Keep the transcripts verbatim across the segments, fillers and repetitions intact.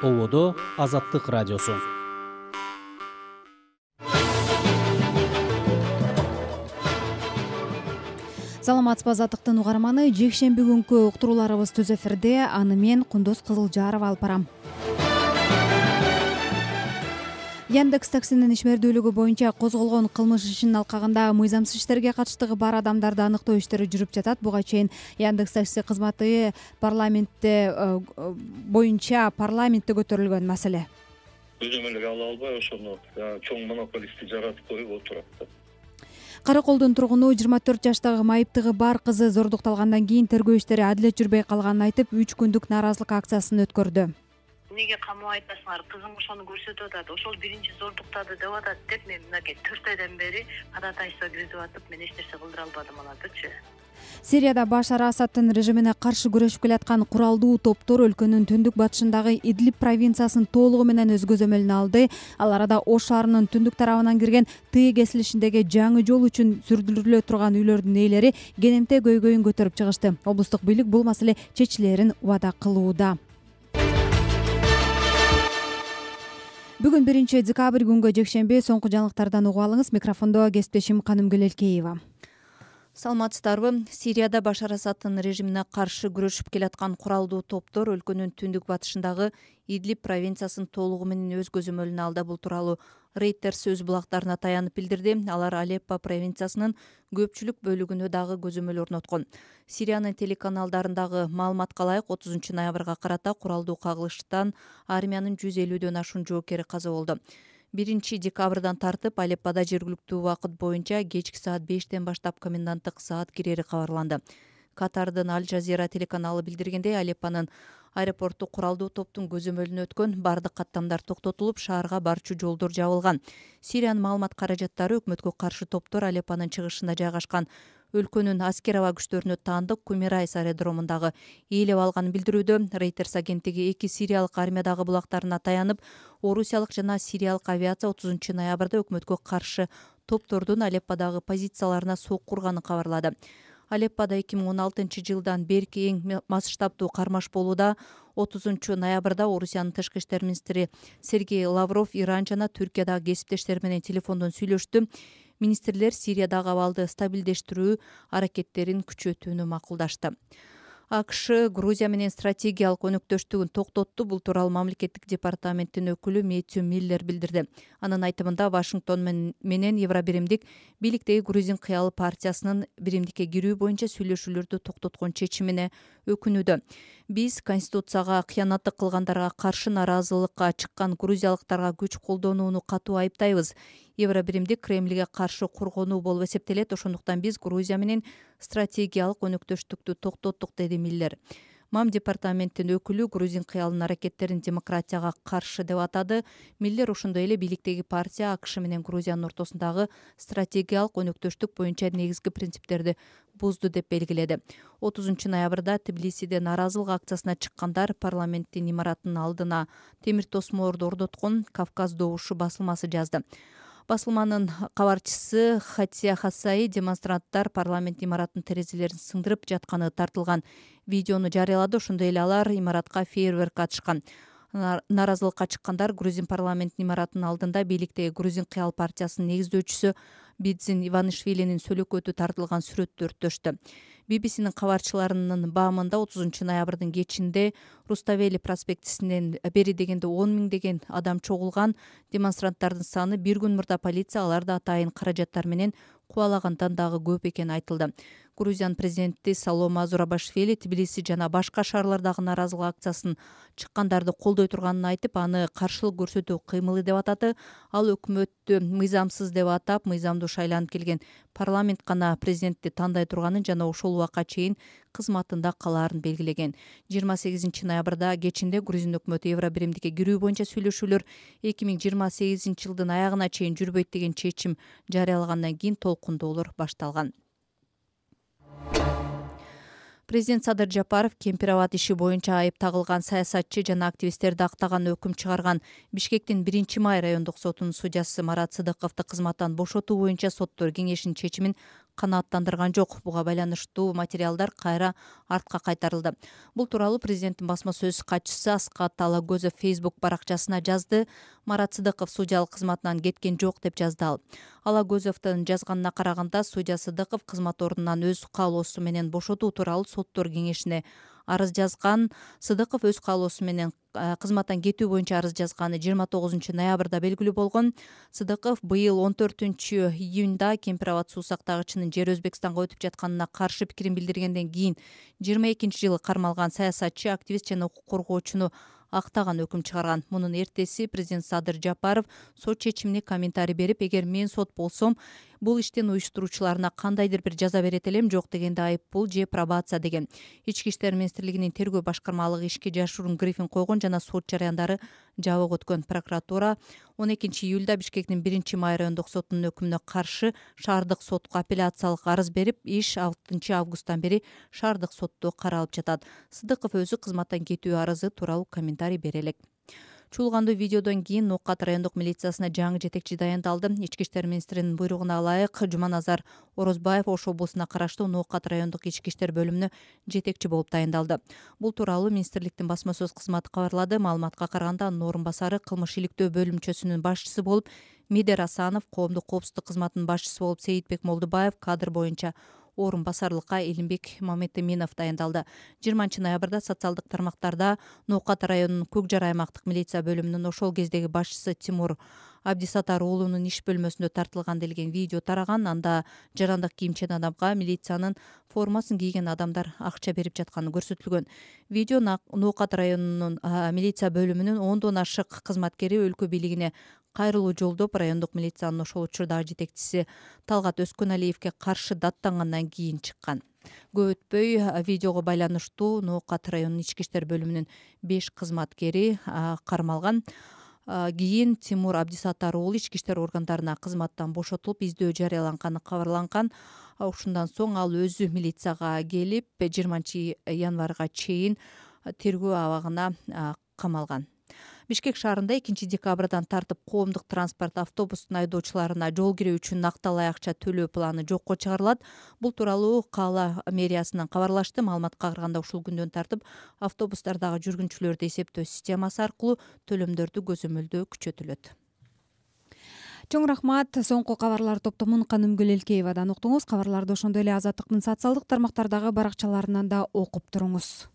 Ободо Азаттык радиосу. Саламатсызбы, Азаттыктын угарманы. Жекшемби күнкү уктурууларыбыз түз эфирде. Аны мен Кундуз Кызылжарова алып барам. Яндекс таксинин ишмердүүлүгү боюнча козголгон кылмыш ишинин алкагында мыйзамсыз иштерге катыштыгы бар адамдарды аныктоо иштери жүрүп жатат. Буга чейин Яндекс такси кызматы парламентте боюнча парламентте көтөрүлгөн маселе. Көзөмөлгө ала албай ошону чоң монополистти жаратып коюп отурат. Караколдун тургуну жыйырма төрт жаштагы майыптыгы бар кызы зордукталгандан кийин тергөө иштери адилет жүрбөй калганын айтып, үч күндүк нааразылык акциясын өткөрдү. Эмнеге камап айтасыңар, кызым ошону көрсөтүп атат, ошол биринчи зордуктады деп атат деп мен мынакей төрт айдан бери ходатайство киргизип атып, мен эч нерсе кылдыра албадым алардычы. Сирияда Башар Асадтын режимине каршы күрөшүп келаткан куралдуу топтор өлкөнүн түндүк батышындагы Идлиб провинциясын толугу менен өз көзөмөлүнө алды. Ал арада Ош шаарынын түндүк тарабынан кирген Тыы кесилишиндеги жаңы жол үчүн сүрдүрүлө турган үйлөрдүн ээлери кенемте көйгөйүн көтөрүп чыгышты. Облустук бийлик бул маселе чечилерин убада кылууда. Бүгүн биринчи декабрь күнгө жекшемби. Соңку жаңылыктардан угуп алыңыз. Микрофондо кесиптешим Канымгүл Элкеева. Саламатсыздарбы? Сирияда Башар Асадтын режимине каршы күрөшүп келаткан куралдуу топтор өлкөнүн түндүк батышындагы Идлиб провинциясын толугу менен өз көзөмөлүнө алды. Бул тууралуу Reuters өз булактарына таянып билдирди. Алар Алеппо провинциясынын көпчүлүк бөлүгүнө дагы көзөмөл орноткон. Сириянын телеканалдарындагы маалыматка ылайык отузунчу ноябрга карата куралдуу кагылыштан армиянын жүз элүүдөн ашуун жоокери каза болду. биринчи декабрдан тартып Алеппода жергиликтүү убакыт боюнча кечки саат бештен баштап коменданттык саат кирери кабарланды. Катардын Аль Жазира телеканалы билдиргендей, Алеппонун аэропорту куралдуу топтун көзөмөлүнө өткөн, бардык каттамдар токтотулуп, шаарга барчу жолдор жабылган. Сириянын маалымат каражаттары өкмөткө каршы топтор Алеппонун чыгышында жайгашкан өлкөнүн аскер аба күчтөрүнө таандык Кумерайс аэродромундагы ээлеп алганын билдирүүдө. Reuters агенттиги эки сириялык армиядагы булактарына таянып, орусиялык жана сириялык авиация отузунчу ноябрда өкмөткө каршы топтордун Алепподагы позицияларына сокку урганын кабарлады. Алеппода эки миң он алтынчы жылдан берки эң масштабдуу кармаш болууда. отузунчу ноябрда Орусиянын тышкы иштер министри Сергей Лавров Иран жана Түркиядагы кесиптештери менен телефондон сүйлөштү. Министрлер Сириядагы абалды стабилдештирүү аракеттерин күчөтүүнү макулдашты. АКШ Грузия менен стратегиялык өнөктөштүгүн токтотту. Бул тууралуу мамлекеттик департаменттин өкүлү Мэтью Миллер билдирди. Анын айтымында Вашингтон менен Евробиримдик бийликтеги Грузин кыялы партиясынын биримдикке кирүү боюнча сүйлөшүүлөрдү токтоткон чечимине өкүнүүдө. Биз Конституцияга кыянаттык кылгандарга каршы нааразылыкка чыккан грузиялыктарга күч колдонууну катуу айыптайбыз. Евробиримдик Кремльге каршы коргонуу болуп эсептелет. Ошондуктан биз Грузия менен стратегиялык өнөктөштүктү токтоттук, деди Миллер. МАМ департаменттин өкүлү Грузин кыялынын аракеттерин демократияга каршы деп атады. Миллер ошондой эле бийликтеги партия АКШ менен Грузиянын ортосундагы стратегиялык өнөктөштүк боюнча негизги принциптерди бузду деп белгиледи. отузунчу ноябрда Тбилисиде нааразылык акциясына чыккандар парламенттин имаратынын алдына темир тосмолорду орноткон, Кавказ добушу басылмасы жазды. Басылманын кабарчысы Хатия Хасаи демонстранттар парламент имаратынын терезелерин сындырып жатканы тартылган видеону жарыялады. Ошондой эле алар имаратка фейерверк атышкан. Нааразылыкка чыккандар Грузин парламентинин имаратынын алдында бийликтеги Грузин кыял партиясынын негиздөөчүсү Бидзин Иванишвилинин сөлөкөтү тартылган сүрөттү өрттөштү. би би синин кабарчыларынын баамында отузунчу ноябрдын кечинде Руставели проспектисинен бери дегенде он миңдеген адам чогулган. Демонстранттардын саны бир күн мурда полиция аларды атайын каражаттар менен кубалагандан дагы көп экени айтылды. Грузиянын президенти Салома Зурабашвили Тбилиси жана башка шаарлардагы нааразылык акциясын чыккандарды колдой турганын айтып, аны каршылык көрсөтүү кыймылы деп атады. Ал өкмөттү мыйзамсыз деп атап, мыйзамдуу шайланып келген парламент гана президентти тандай турганын жана ошол убакка чейин кызматында калаарын белгилеген. жыйырма сегизинчи ноябрда кечинде Грузин өкмөтү Евробиримдикке кирүү боюнча сүйлөшүүлөр эки миң жыйырма сегизинчи жылдын аягына чейин жүрбөйт деген чечим жарыялагандан кийин толкундоолор башталган. Президент Садыр Жапаров Кемпир-Абад иши боюнча айып тагылган саясатчы жана активисттерди актаган өкүм чыгарган. Бишкектин биринчи май райондук сотунун судьясы Марат Сыдыковду кызматтан бошотуу боюнча соттор кеңешинин чечимин канааттандырган жок. Буга байланыштуу материалдар кайра артка кайтарылды. Бул тууралуу президенттин басма сөз катчысы Аскат Алагөзов Facebook баракчасына жазды. Марат Сыдыков судьялык кызматынан кеткен жок деп жазды ал. Алагөзовдун жазганына караганда судья Сыдыков кызмат ордунан өз каалоосу менен бошотуу тууралуу соттор кеңешине арыз жазган. Сыдыков өз каалоосу менен кызматтан кетүү боюнча арыз жазганы жыйырма тогузунчу ноябрда белгилүү болгон. Сыдыков быйыл он төртүнчү июнда Кемпир Абад суу сактагычынын жери Өзбекстанга өтүп жатканына каршы пикирин билдиргенден кийин жыйырма экинчи жылы кармалган саясатчы, активист жана укук коргоочуну актаган өкүм чыгарган. Мунун эртеси президент Садыр Жапаров сот чечимине комментарий берип, эгер мен сот болсом, бул иштин уюштуруучуларына кандайдыр бир жаза берет элем, жок дегенде айыппул же пробация деген. Ички иштер министрлигинин тергөө башкармалыгы ишке жашыруун брифинг койгон жана сот жараяндары жабык өткөн. Прокуратура он экинчи июлда Бишкектин биринчи май райондук сотунун өкүмүнө каршы шаардык сотко апелляциялык арыз берип, иш алтынчы августтан бери шаардык сотто каралып жатат. Сыдыков өзү кызматтан кетүү арызы тууралуу комментарий бере элек. Чуулгандуу видеодон кийин Ноокат райондук милициясына жаңы жетекчи дайындалды. Ички иштер министринин буйругуна ылайык Жуманазар Орозбаев Ош облусуна караштуу Ноокат райондук ички иштер бөлүмүнө жетекчи болуп дайындалды. Бул тууралуу министрликтин басма сөз кызматы кабарлады. Маалыматка караганда анын орун басары кылмыш иликтөө бөлүмчөсүнүн башчысы болуп, Медер Асанов, коомдук коопсуздук кызматынын башчысы болуп Сейитбек Молдубаев, кадр боюнча орун басарлыкка Элимбек Мамедиминов дайындалды. жыйырманчы ноябрда социалдык тармактарда Ноокат районунун Көк Жар аймактык милиция бөлүмүнүн ошол кездеги башчысы Тимур Абдисатар уулунун иш бөлмөсүндө тартылган делген видео тараган. Анда жарандык кийимчен адамга милициянын формасын кийген адамдар акча берип жатканы көрсөтүлгөн. Видео Ноокат районунун милиция бөлүмүнүн ондон ашык кызматкери өлкө бийлигине кайрылуу жолдоп, райондук милициянын ошол учурдагы жетекчиси Талгат Өскөналиевге каршы даттангандан кийин чыккан. Көп өтпөй видеого байланыштуу Ноокат районунун ички иштер бөлүмүнүн беш кызматкери кармалган. Кийин Тимур Абдисатар уулу ички иштер органдарына кызматтан бошотулуп, издөө жарыяланганы кабарланган. Ушундан соң ал өзү милицияга келип, жыйырманчы январга чейин тергөө абагына камалган. Бишкек шаарында экинчи декабрдан тартып коомдук транспорт автобустун айдоочуларына жол кирүү үчүн накталай акча төлөө планы жокко чыгарылат. Бул тууралуу Кала мэриясынан кабарлашты. Маалыматка караганда ушул күндөн тартып автобустардагы жүргүнчүлөрдү эсептөө системасы аркылуу төлөмдөрдү көзөмөлдөө күчөтүлөт. Чоң рахмат. Соңку кабарлар топтомун Канымгүл Элкеевадан уктуңуз. Кабарларды ошондой эле Азаттыктын социалдык тармактардагы баракчаларынан да окуп туруңуз.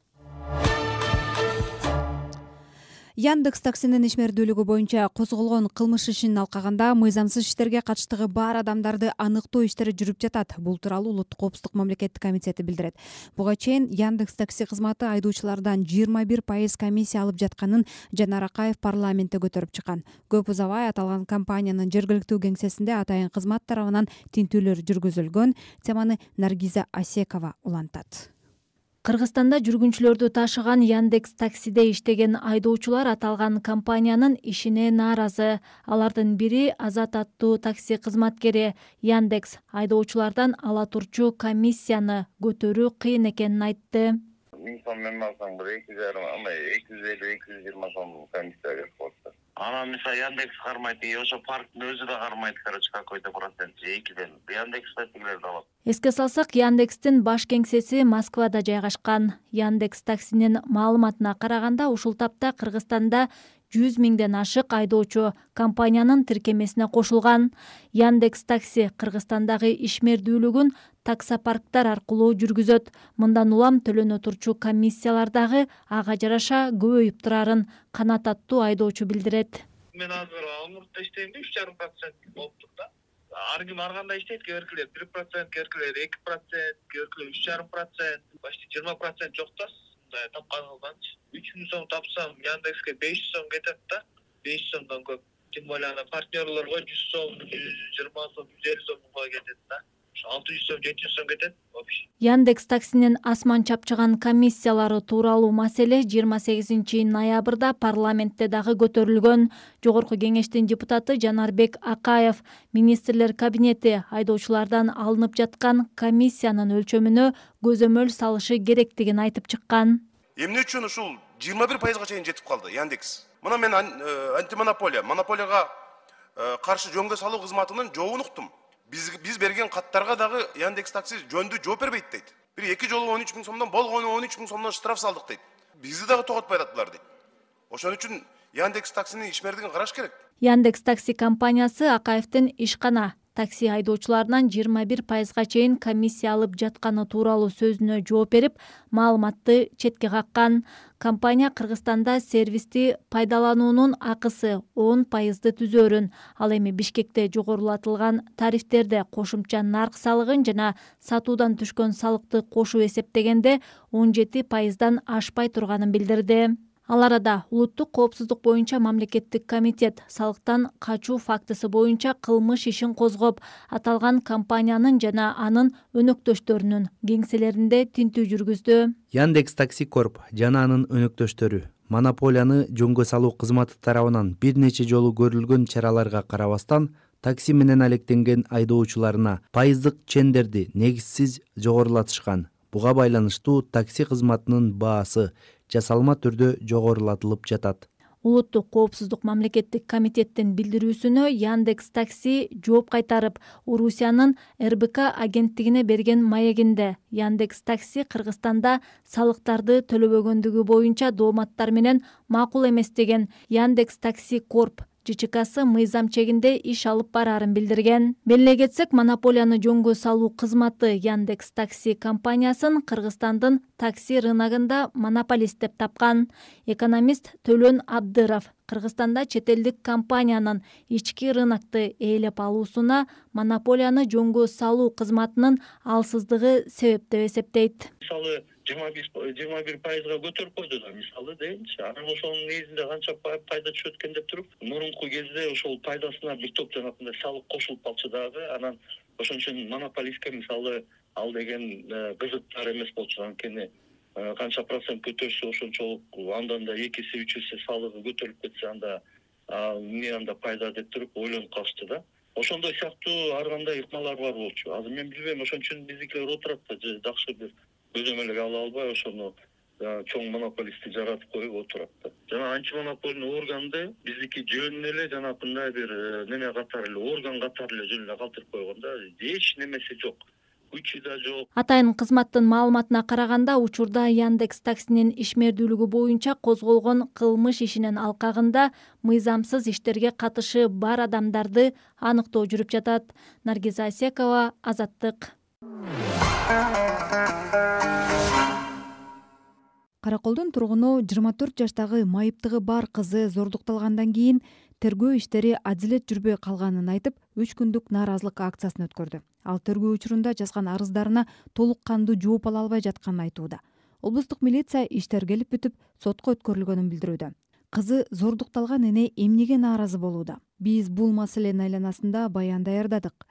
Яндекс таксинин ишмердүүлүгү боюнча козголгон кылмыш ишин алкаганда мыйзамсыз иштерге катыштыгы бар адамдарды аныктоо иштери жүрүп жатат. Бул тууралуу Улуттук коопсуздук мамлекеттик комитети билдирет. Буга чейин Яндекс такси кызматы айдоочулардан жыйырма бир пайыз комиссия алып жатканын Жанар Акаев парламентте көтөрүп чыккан. Көп узабай аталган компаниянын жергиликтүү кеңсесинде атайын кызмат тарабынан тинтүүлөр жүргүзүлгөн. Теманы Наргиза Асекова улантат. Кыргызстанда жүргүнчүлөрдү ташыган Яндекс таксиде иштеген айдоочулар аталган компаниянын ишине нааразы. Алардын бири Азат аттуу такси кызматкери. Яндекс айдоочулардан ала турчу комиссияны көтөрүү кыйын экенин айтты. миң сом мен алсаң бир эки жарым, ама эки жүз элүү эки жүз жыйырма сом комиссия берип коет. Анан мисалы Яндекс кармайт, и ошо парктын өзү да кармайт, короче, какой-то процент экиден. Яндекс таксилерди алат. Эске салсак, Яндекстин баш кеңсеси Москвада жайгашкан. Яндекс таксинин маалыматына караганда, ушул тапта Кыргызстанда жүз миңден ашык айдоочу компаниянын тиркемесине кошулган. Яндекс такси Кыргызстандагы ишмердүүлүгүн таксопарктар аркылуу жүргүзөт. Мындан улам төлөнө турчу комиссиялар дагы ага жараша көбөйүп турарын Канат аттуу айдоочу билдирет. Мен азыр Алмуртта иштейм, үч жарым процент болуптур да. Ар ким ар кандай иштейт, кээ бир процент, кээ эки процент, кээ үч жарым процент, почти жыйырма процент жок да. Мындай тапканыңызданчы. үч миң сом тапсам, Яндекске беш жүз сом кетет да. беш жүз сомдон көп. Тем более ана партнерлорго жүз сом, жүз жыйырма сом, жүз элүү сомго кетет да. алты жүз сом, жети жүз сом кетет. Яндекс таксинин асман чапчыган комиссиялары тууралуу маселе жыйырма сегизинчи ноябрда парламентте дагы көтөрүлгөн. Жогорку кеңештин депутаты Жанарбек Акаев министрлер кабинети айдоочулардан алынып жаткан комиссиянын өлчөмүнө көзөмөл салышы керектигин айтып чыккан. Эмне үчүн ушул жыйырма бир пайызга чейин жетип калды Яндекс? Мына мен антимонополия, монополияга каршы жөнгө салуу кызматынын жообун уктум. Биз биз берген каттарга дагы Яндекс Такси жөндүү жооп бербейт дейт. Бир эки жолу он үч миң сомдон болгону он үч миң сомдон штраф салдык дейт. Бизди дагы тоготпой атат дейт. Ошон үчүн Яндекс Таксинин ишмердигин караш керек. Яндекс Такси компаниясы Акаевдин ишкана такси айдоочуларынан жыйырма бир пайызга чейин комиссия алып жатканы тууралуу сөзүнө жооп берип, маалыматты четке каккан. Компания Кыргызстанда сервисти пайдалануунун акысы он пайызды түзөөрүн, ал эми Бишкекте жогорулатылган тарифтерде кошумча нарк салыгын жана сатуудан түшкөн салыкты кошуп эсептегенде он жети пайыздан ашпай турганын билдирди. Ал арада улуттук коопсуздук боюнча мамлекеттик комитет салыктан качуу фактысы боюнча кылмыш ишин козгоп, аталган компаниянын жана анын өнөктөштөрүнүн кеңселеринде тинтүү жүргүздү. Яндекс Такси Корп жана анын өнөктөштөрү монополияны жөнгө салуу кызматы тарабынан бир нече жолу көрүлгөн чараларга карабастан такси менен алектенген айдоочуларына пайыздык чендерди негизсиз жогорулатышкан. Буга байланыштуу такси кызматынын баасы жасалма түрдө жогорулатылып жатат. Улуттук коопсуздук мамлекеттик комитеттин билдирүүсүнө Яндекс Такси жооп кайтарып, Орусиянын эр бэ ка агенттигине берген маегинде Яндекс Такси Кыргызстанда салыктарды төлөбөгөндүгү боюнча дооматтар менен макул эмес деген Яндекс Такси Корп жэ чэ касы мыйзам чегинде иш алып бараарын билдирген. Белгилей кетсек, монополияны жөнгө салуу кызматы Яндекс Такси компаниясын Кыргызстандын такси рыногунда монополист деп тапкан. Экономист Төлөн Абдыров Кыргызстанда чет элдик компаниянын ички рынокты ээлеп алуусуна монополияны жөнгө салуу кызматынын алсыздыгы себеп деп эсептейт. Мисалы жыйырма бир пайызга көтөрүп койду да, мисалы дейинчи. Анан ошонун негизинде канча пайда түшөт экен деп туруп, мурунку кезде ошол пайдасына бир топ жанагындай салык кошулуп калчу дагы. Анан ошон үчүн монополистке мисалы ал деген кызыктар эмес болчу. Анткени канча процент көтөрсө ошончолук андан да эки эсе үч эсе салыгы көтөрүлүп кетсе анда эмне анда пайда деп туруп ойлонуп калышты да. Ошондой сыяктуу ар кандай ыкмалар бар болчу. Азыр мен билбейм, ошон үчүн биздикилер отурат да, жакшы бир көзөмөлгө ала албай ошону чоң монополистти жаратып коюп отурат да. Жана антимонопольный органды биздики жөн эле жанагындай бир неме катары эле, орган катары эле жөн эле калтырып койгон да. Эч немеси жок. Күчү да жок. Атайын кызматтын маалыматына караганда, учурда Яндекс Таксинин ишмердүүлүгү боюнча козголгон кылмыш ишинин алкагында мыйзамсыз иштерге катышы бар адамдарды аныктоо жүрүп жатат. Наргиза Асекова, Азаттык. Караколдун тургуну жыйырма төрт жаштагы майыптыгы бар кызы зордукталгандан кийин тергөө иштери адилет жүрбөй калганын айтып, үч күндүк нааразылык акциясын өткөрдү. Ал тергөө учурунда жазган арыздарына толук кандуу жооп ала албай жатканын айтууда. Облустук милиция иш тергелип бүтүп, сотко өткөрүлгөнүн билдирүүдө. Кызы зордукталган эне эмнеге нааразы болууда? Биз бул маселенин айланасында баян даярдадык.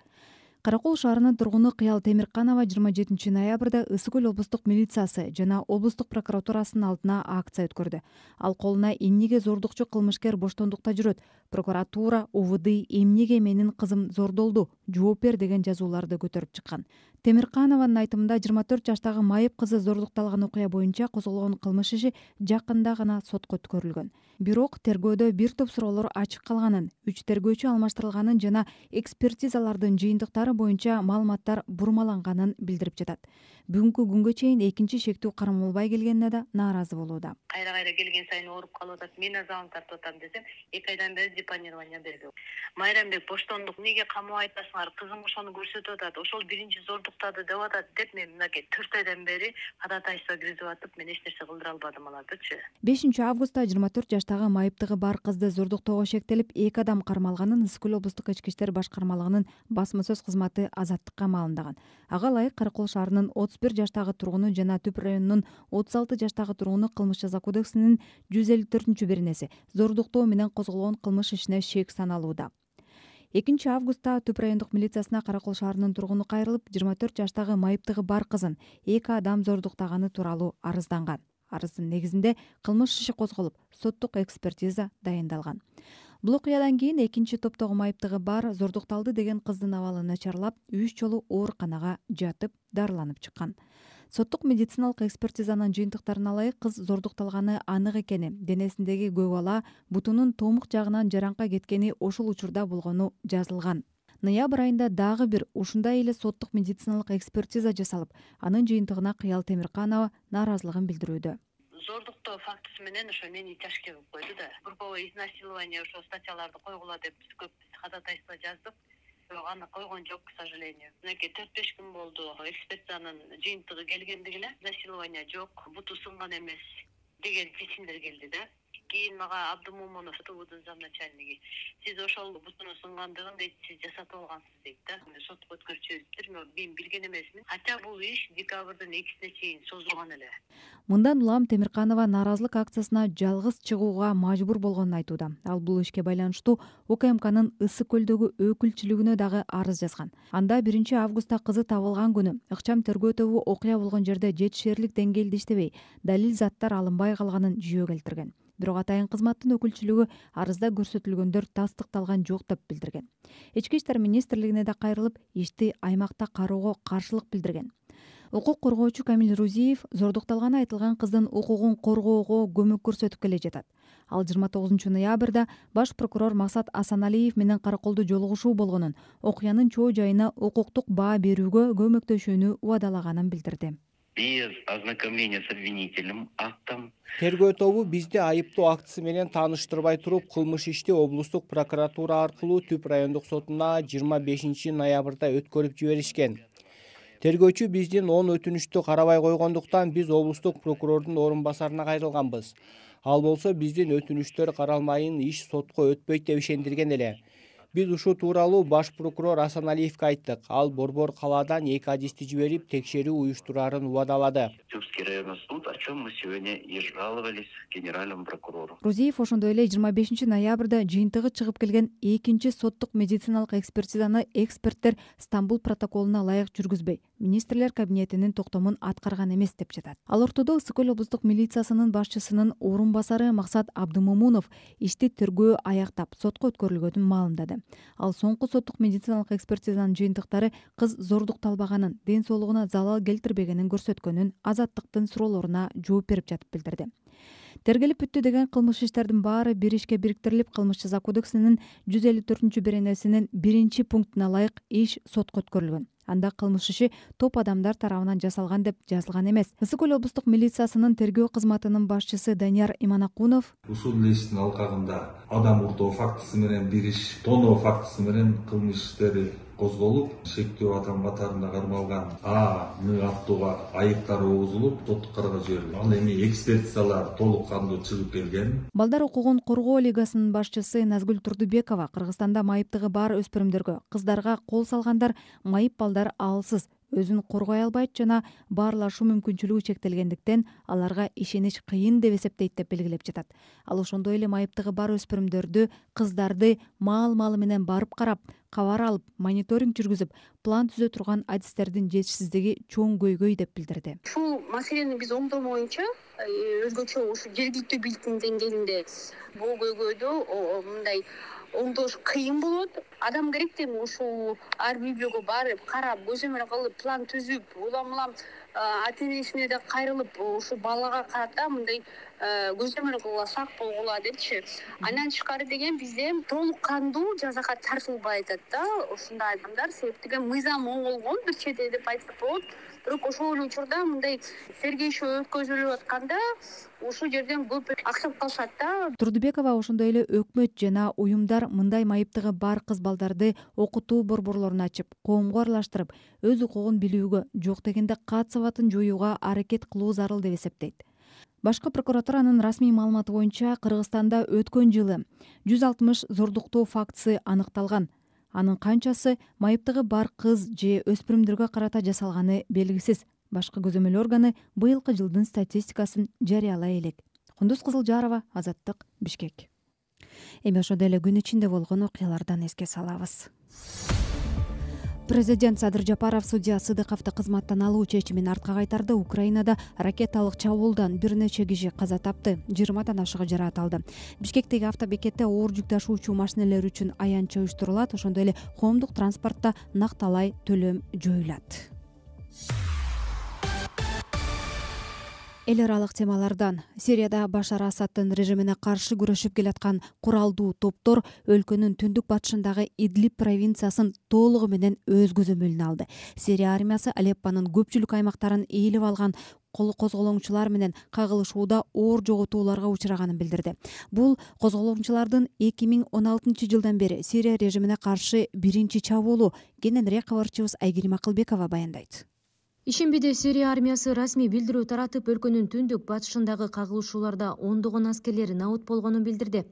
Каракол шаарынын тургуну Кыял Темирканова жыйырма жетинчи ноябрда Ысык көл облустук милициясы жана облустук прокуратурасынын алдына акция өткөрдү. Ал колуна эмнеге зордукчу кылмышкер боштондукта жүрөт, прокуратура, у вэ дэ эмнеге менин кызым зордолду, жооп бер деген жазууларды көтөрүп чыккан. Темирканованын айтымында жыйырма төрт жаштагы майып кызы зордукталган окуя боюнча козголгон кылмыш иши жакында гана сотко өткөрүлгөн. Бирок тергөөдө бир топ суроолор ачык калганын, үч тергөөчү алмаштырылганын жана экспертизалардын жыйынтыктары боюнча маалыматтар бурмаланганын билдирип жатат. Бүгүнкү күнгө чейин экинчи шектүү кармалбай келгенине да нааразы болууда. Кайра кайра келген сайын ооруп калып атат. Мен азабын тартып атам десем, эки айдан бери депонирование берди. Майрамбек Боштондук неге камап айтасыңар? Кызым ошону көрсөтүп атат. Ошол биринчи зордуктады деп атат деп мен мынакей төрт айдан бери ходатайство киргизип атып, мен эч нерсе кылдыра албадым алардычы. бешинчи августта жыйырма төрт жаштагы майыптыгы бар кызды зордуктоого шектелип, эки адам кармалганын Ысык көл облустук ички иштер башкармалыгынын басма сөз кызматы Азаттыкка маалымдаган. Ага ылайык Каракол шаарынын отуз бир жаштагы тургуну жана Түп районунун отуз алты жаштагы тургуну Кылмыш жаза кодексинин жүз элүү төртүнчү беренеси зордуктоо менен козголгон кылмыш ишине шек саналууда. экинчи августта Түп райондук милициясына Каракол шаарынын тургуну кайрылып, жыйырма төрт жаштагы майыптыгы бар кызын эки адам зордуктаганы тууралуу арызданган. Арыздын негизинде кылмыш иши козголуп, соттук экспертиза дайындалган. Бул окуядан кийин экинчи топтогу майыптыгы бар зордукталды деген кыздын абалы начарлап, үч жолу ооруканага жатып, дарыланып чыккан. Соттук медициналык экспертизанын жыйынтыктарына ылайык кыз зордукталганы анык экени, денесиндеги көк ала, бутунун томук жагынан жараңка кеткени ошол учурда болгону жазылган. ноябрь айында дагы бир ушундай эле соттук медициналык экспертиза жасалып, анын жыйынтыгына Кыял Темирканова нааразылыгын билдирүүдө. Зордуктоо фактысы менен ошо мени тяжкий кылып койду да. Групповое изнасилование ошо статьяларды койгула деп биз көп ходатайство жаздык. Бирок аны койгон жок, к сожалению. Мынакей төрт беш күн болду. Экспертизанын жыйынтыгы келгендиги эле изнасилование жок, буту сынган эмес деген чечимдер келди да. Кийин мага Абдымомунов ТУдун замначальниги, сиз ошол бутунун сынгандыгын дейт, сиз жасатып алгансыз дейт да. Сотко өткөрчүбүздөр, мен билген эмесмин. Хотя бул иш декабрдын экисине чейин созулган эле. Мындан улам Темирканова нааразылык акциясына жалгыз чыгууга мажбур болгонун айтууда. Ал бул ишке байланыштуу УКМКнын Ысык көлдөгү өкүлчүлүгүнө дагы арыз жазган. Анда биринчи августта кызы табылган күнү ыкчам тергөө тобу окуя болгон жерде жетишерлик деңгээлде иштебей, далил заттар алынбай калганын жүйө келтирген. Бирок атайын кызматтын өкүлчүлүгү арызда көрсөтүлгөндөр тастыкталган жок деп билдирген. Ички иштер министрлигине да кайрылып, ишти аймакта кароого каршылык билдирген. Укук коргоочу Камил Рузиев зордукталганы айтылган кыздын укугун коргоого көмөк көрсөтүп келе жатат. Ал жыйырма тогузунчу ноябрда баш прокурор Максат Асаналиев менен караколдо жолугушуу болгонун, окуянын чоо жайына укуктук баа берүүгө көмөктөшүүнү убадалаганын билдирди. Без ознакомления с обвинительным актом. Тергөө тобу бизди айыптоо актысы менен тааныштырбай туруп, кылмыш ишти облустук прокуратура аркылуу Түп райондук сотуна жыйырма бешинчи ноябрда өткөрүп жиберишкен. Тергөөчү биздин он өтүнүштү карабай койгондуктан биз облустук прокурордун орун басарына кайрылганбыз. Ал болсо биздин өтүнүчтөр каралмайын, иш сотко өтпөйт деп ишендирген эле. Биз ушул тууралуу баш прокурор Асаналиевке айттык. Ал борбор калаадан эки адисти жиберип, текшерүү уюштурарын убадалады. Тюркский районный суд, о чем мы сегодня и жаловались генеральному прокурору. Рузиев ошондой эле жыйырма бешинчи ноябрда жыйынтыгы чыгып келген экинчи соттук медициналык экспертизаны эксперттер Стамбул протоколуна ылайык жүргүзбөй, министрлер кабинетинин токтомун аткарган эмес деп жатат. Ал ортодо Ысык көл облустук милициясынын башчысынын орун басары Максат Абдымомунов ишти тергөө аяктап, сотко өткөрүлгөнүн маалымдады. Ал соңку соттук медициналык экспертизанын жыйынтыктары кыз зордукталбаганын, ден соолугуна залал келтирбегенин көрсөткөнүн Азаттыктын суроолоруна жооп берип жатып билдирди. Тергелип бүттү деген кылмыш иштердин баары бир ишке бириктирилип, кылмыш жаза кодексинин жүз элүү төртүнчү беренесинин биринчи пунктуна ылайык иш сотко өткөрүлгөн. Анда кылмыш иши топ адамдар тарабынан жасалган деп жазылган эмес. Ысык көл облустук милициясынын тергөө кызматынын башчысы Данияр Иманакунов ушул иштин алкагында адам уртоо фактысы менен бир иш тоноо фактысы менен кылмыш иштери козголуп, шектүү адам катарында кармалган А, Н аттууга айыптар угузулуп, соттук кароого жиберилген. Ал эми экспертизалар толук кандуу чыгып келген. Балдар укугун коргоо лигасынын башчысы Назгүл Турдубекова Кыргызстанда майыптыгы бар өспүрүмдөргө, кыздарга кол салгандар майып балдар алсыз, өзүн коргой албайт жана баарлашуу мүмкүнчүлүгү чектелгендиктен аларга ишенич кыйын деп эсептейт деп белгилеп жатат. Ал ошондой эле майыптыгы бар өспүрүмдөрдү, кыздарды маал-маалы менен барып карап, кабар алып, мониторинг жүргүзүп, план түзө турган адистердин жетишсиздиги чоң көйгөй деп билдирди. Ушул маселени биз оңдоо боюнча өзгөчө ушу жергиликтүү бийликтин деңгээлинде бул көйгөйдү мындай оңдош кыйын болот. Адам керек да ушул ар үй бүлөгө барып, карап, көзөмөл кылып, план түзүп, улам улам ата энесине да кайрылып, ушул балага карата мындай көзөмөл кылсак болгула депчи. Андан тышкары деген бизде толук кандуу жазага тартылбай атат да ушундай адамдар, себептен мыйзам оңолгон бир чети деп айтсак болот. Бирок ошол эле учурда мындай тергөө өткөзүлүп атканда ушул жерден көп аксап калышат да. Турдубекова ошондой эле өкмөт жана уюмдар мындай майыптыгы бар кыз балдарды окутуу борборлорун ачып, коомго аралаштырып, өз укугун билүүгө, жок дегенде кат сабатын жоюуга аракет кылуу зарыл деп эсептейт. Башкы прокуратуранын расмий маалыматы боюнча Кыргызстанда өткөн жылы жүз алтымыш зордуктоо фактысы аныкталган. Анын канчасы майыптыгы бар кыз же өспүрүмдөргө карата жасалганы белгисиз. Башкы көзөмөл органы быйылкы жылдын статистикасын жарыялай элек. Кундуз Кызылжарова, Азаттык, Бишкек. Эми ошондой эле күн ичинде болгон окуялардан эске салабыз. Президент Садыр Жапаров судья Сыдыковду кызматтан алуу чечимин артка кайтарды. Украинада ракеталык чабуулдан бир нече киши каза тапты, жыйырмадан ашыгы жаракат алды. Бишкектеги автобекетте оор жүк ташуучу машинелер үчүн аянтча уюштурулат, ошондой эле коомдук транспортто накталай төлөм жоюлат. эл аралык темалардан Сирияда Башар Асаддын режимине каршы күрөшүп келаткан куралдуу топтор өлкөнүн түндүк батышындагы Идлиб провинциясын толугу менен өз көзөмөлүнө алды. Сирия армиясы Алеппонун көпчүлүк аймактарын ээлеп алган кол козголоңчулар менен кагылышууда оор жоготууларга учраганын билдирди. Бул козголоңчулардын эки миң он алтынчы жылдан бери Сирия режимине каршы биринчи чабуулу. Кененирээк кабарчыбыз Айгерим Акылбекова баяндайт. Ишембиде Сирия армиясы расмий билдирүү таратып, өлкөнүн түндүк батышындагы кагылышууларда ондогон аскерлери набыт болгонун билдирди.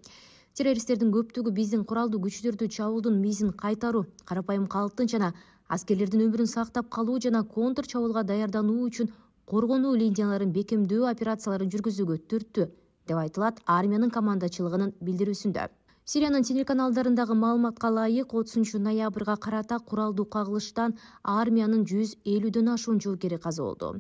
Террористтердин көптүгү биздин куралдуу күчтөрдү чабуулдун мизин кайтаруу, карапайым калктын жана аскерлердин өмүрүн сактап калуу жана контр чабуулга даярдануу үчүн коргонуу линияларын бекемдөө операцияларын жүргүзүүгө түрттү, деп айтылат армиянын командачылыгынын билдирүүсүндө. Сириянын телеканалдарындагы маалыматка ылайык, отузунчу ноябрга карата куралдуу кагылыштан армиянын жүз элүүдөн ашуун жоокери каза болду.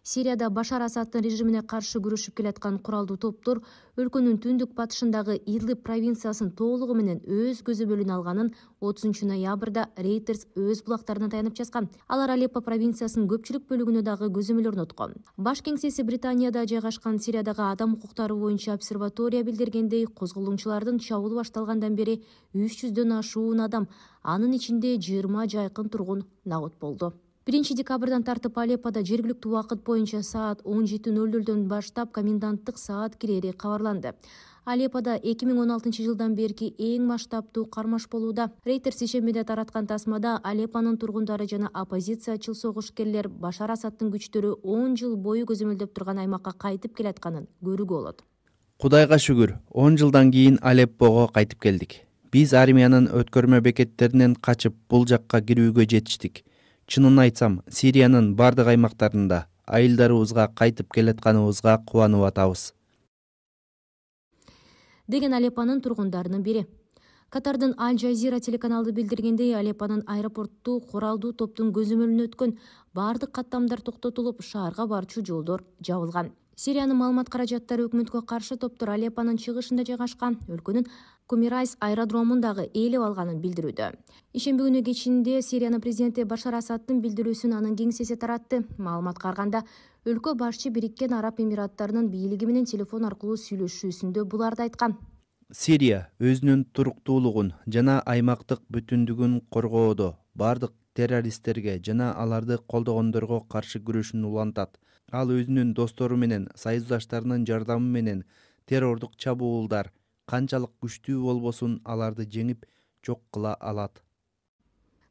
Сирияда Башар Асаддын режимине каршы күрөшүп келаткан куралдуу топтор өлкөнүн түндүк батышындагы Идлиб провинциясын толугу менен өз көзөмөлүнө алганын отузунчу ноябрда Reuters өз булактарына таянып жазган. Алар Алеппо провинциясынын көпчүлүк бөлүгүнө дагы көзөмөл орноткон. Баш кеңсеси Британияда жайгашкан Сириядагы адам укуктары боюнча обсерватория билдиргендей, козголоңчулардын чабуулу башталгандан бери үч жүздөн ашуун адам, анын ичинде жыйырма жайкын тургун набыт болду. биринчи декабрдан тартып Алеппода жергиликтүү убакыт боюнча саат он жети ноль нолдон баштап коменданттык саат кирери кабарланды. Алеппода эки миң он алтынчы жылдан берки эң масштабтуу кармаш болууда. Reuters ишембиде тараткан тасмада Алеппонун тургундары жана оппозициячыл согушкерлер Башар Асаддын күчтөрү он жыл бою көзөмөлдөп турган аймакка кайтып келатканын көрүүгө болот. Кудайга шүгүр, он жылдан кийин Алеппого кайтып келдик. Биз армиянын өткөрмө бекеттеринен качып бул жакка кирүүгө жетиштик. Чынын айтсам, Сириянын бардык аймактарында айылдарыбызга кайтып келатканыбызга кубанып атабыз, деген Алеппонун тургундарынын бири. Катардын Аль Жазира телеканалды билдиргендей, Алеппонун аэропорту куралдуу топтун көзөмөлүнө өткөн бардык каттамдар токтотулуп, шаарга барчу жолдор жабылган. Сириянын маалымат каражаттары өкмөткө каршы топтор Алеппонун чыгышында жайгашкан өлкөнүн Кумирайс аэродромундагы ээлеп алганын билдирүүдө. Ишемби күнү кечинде Сириянын президенти Башар Асаддын билдирүүсүн анын кеңсеси таратты. Маалыматка караганда, өлкө башчы Бириккен Араб Эмираттарынын бийлиги менен телефон аркылуу сүйлөшүүсүндө буларды айткан. Сирия өзүнүн туруктуулугун жана аймактык бүтүндүгүн коргоодо бардык террористтерге жана аларды колдогондорго каршы күрөшүн улантат. Ал өзүнүн достору менен, союздаштарынын жардамы менен террордук чабуулдар канчалык күчтүү болбосун аларды жеңип жок кыла алат.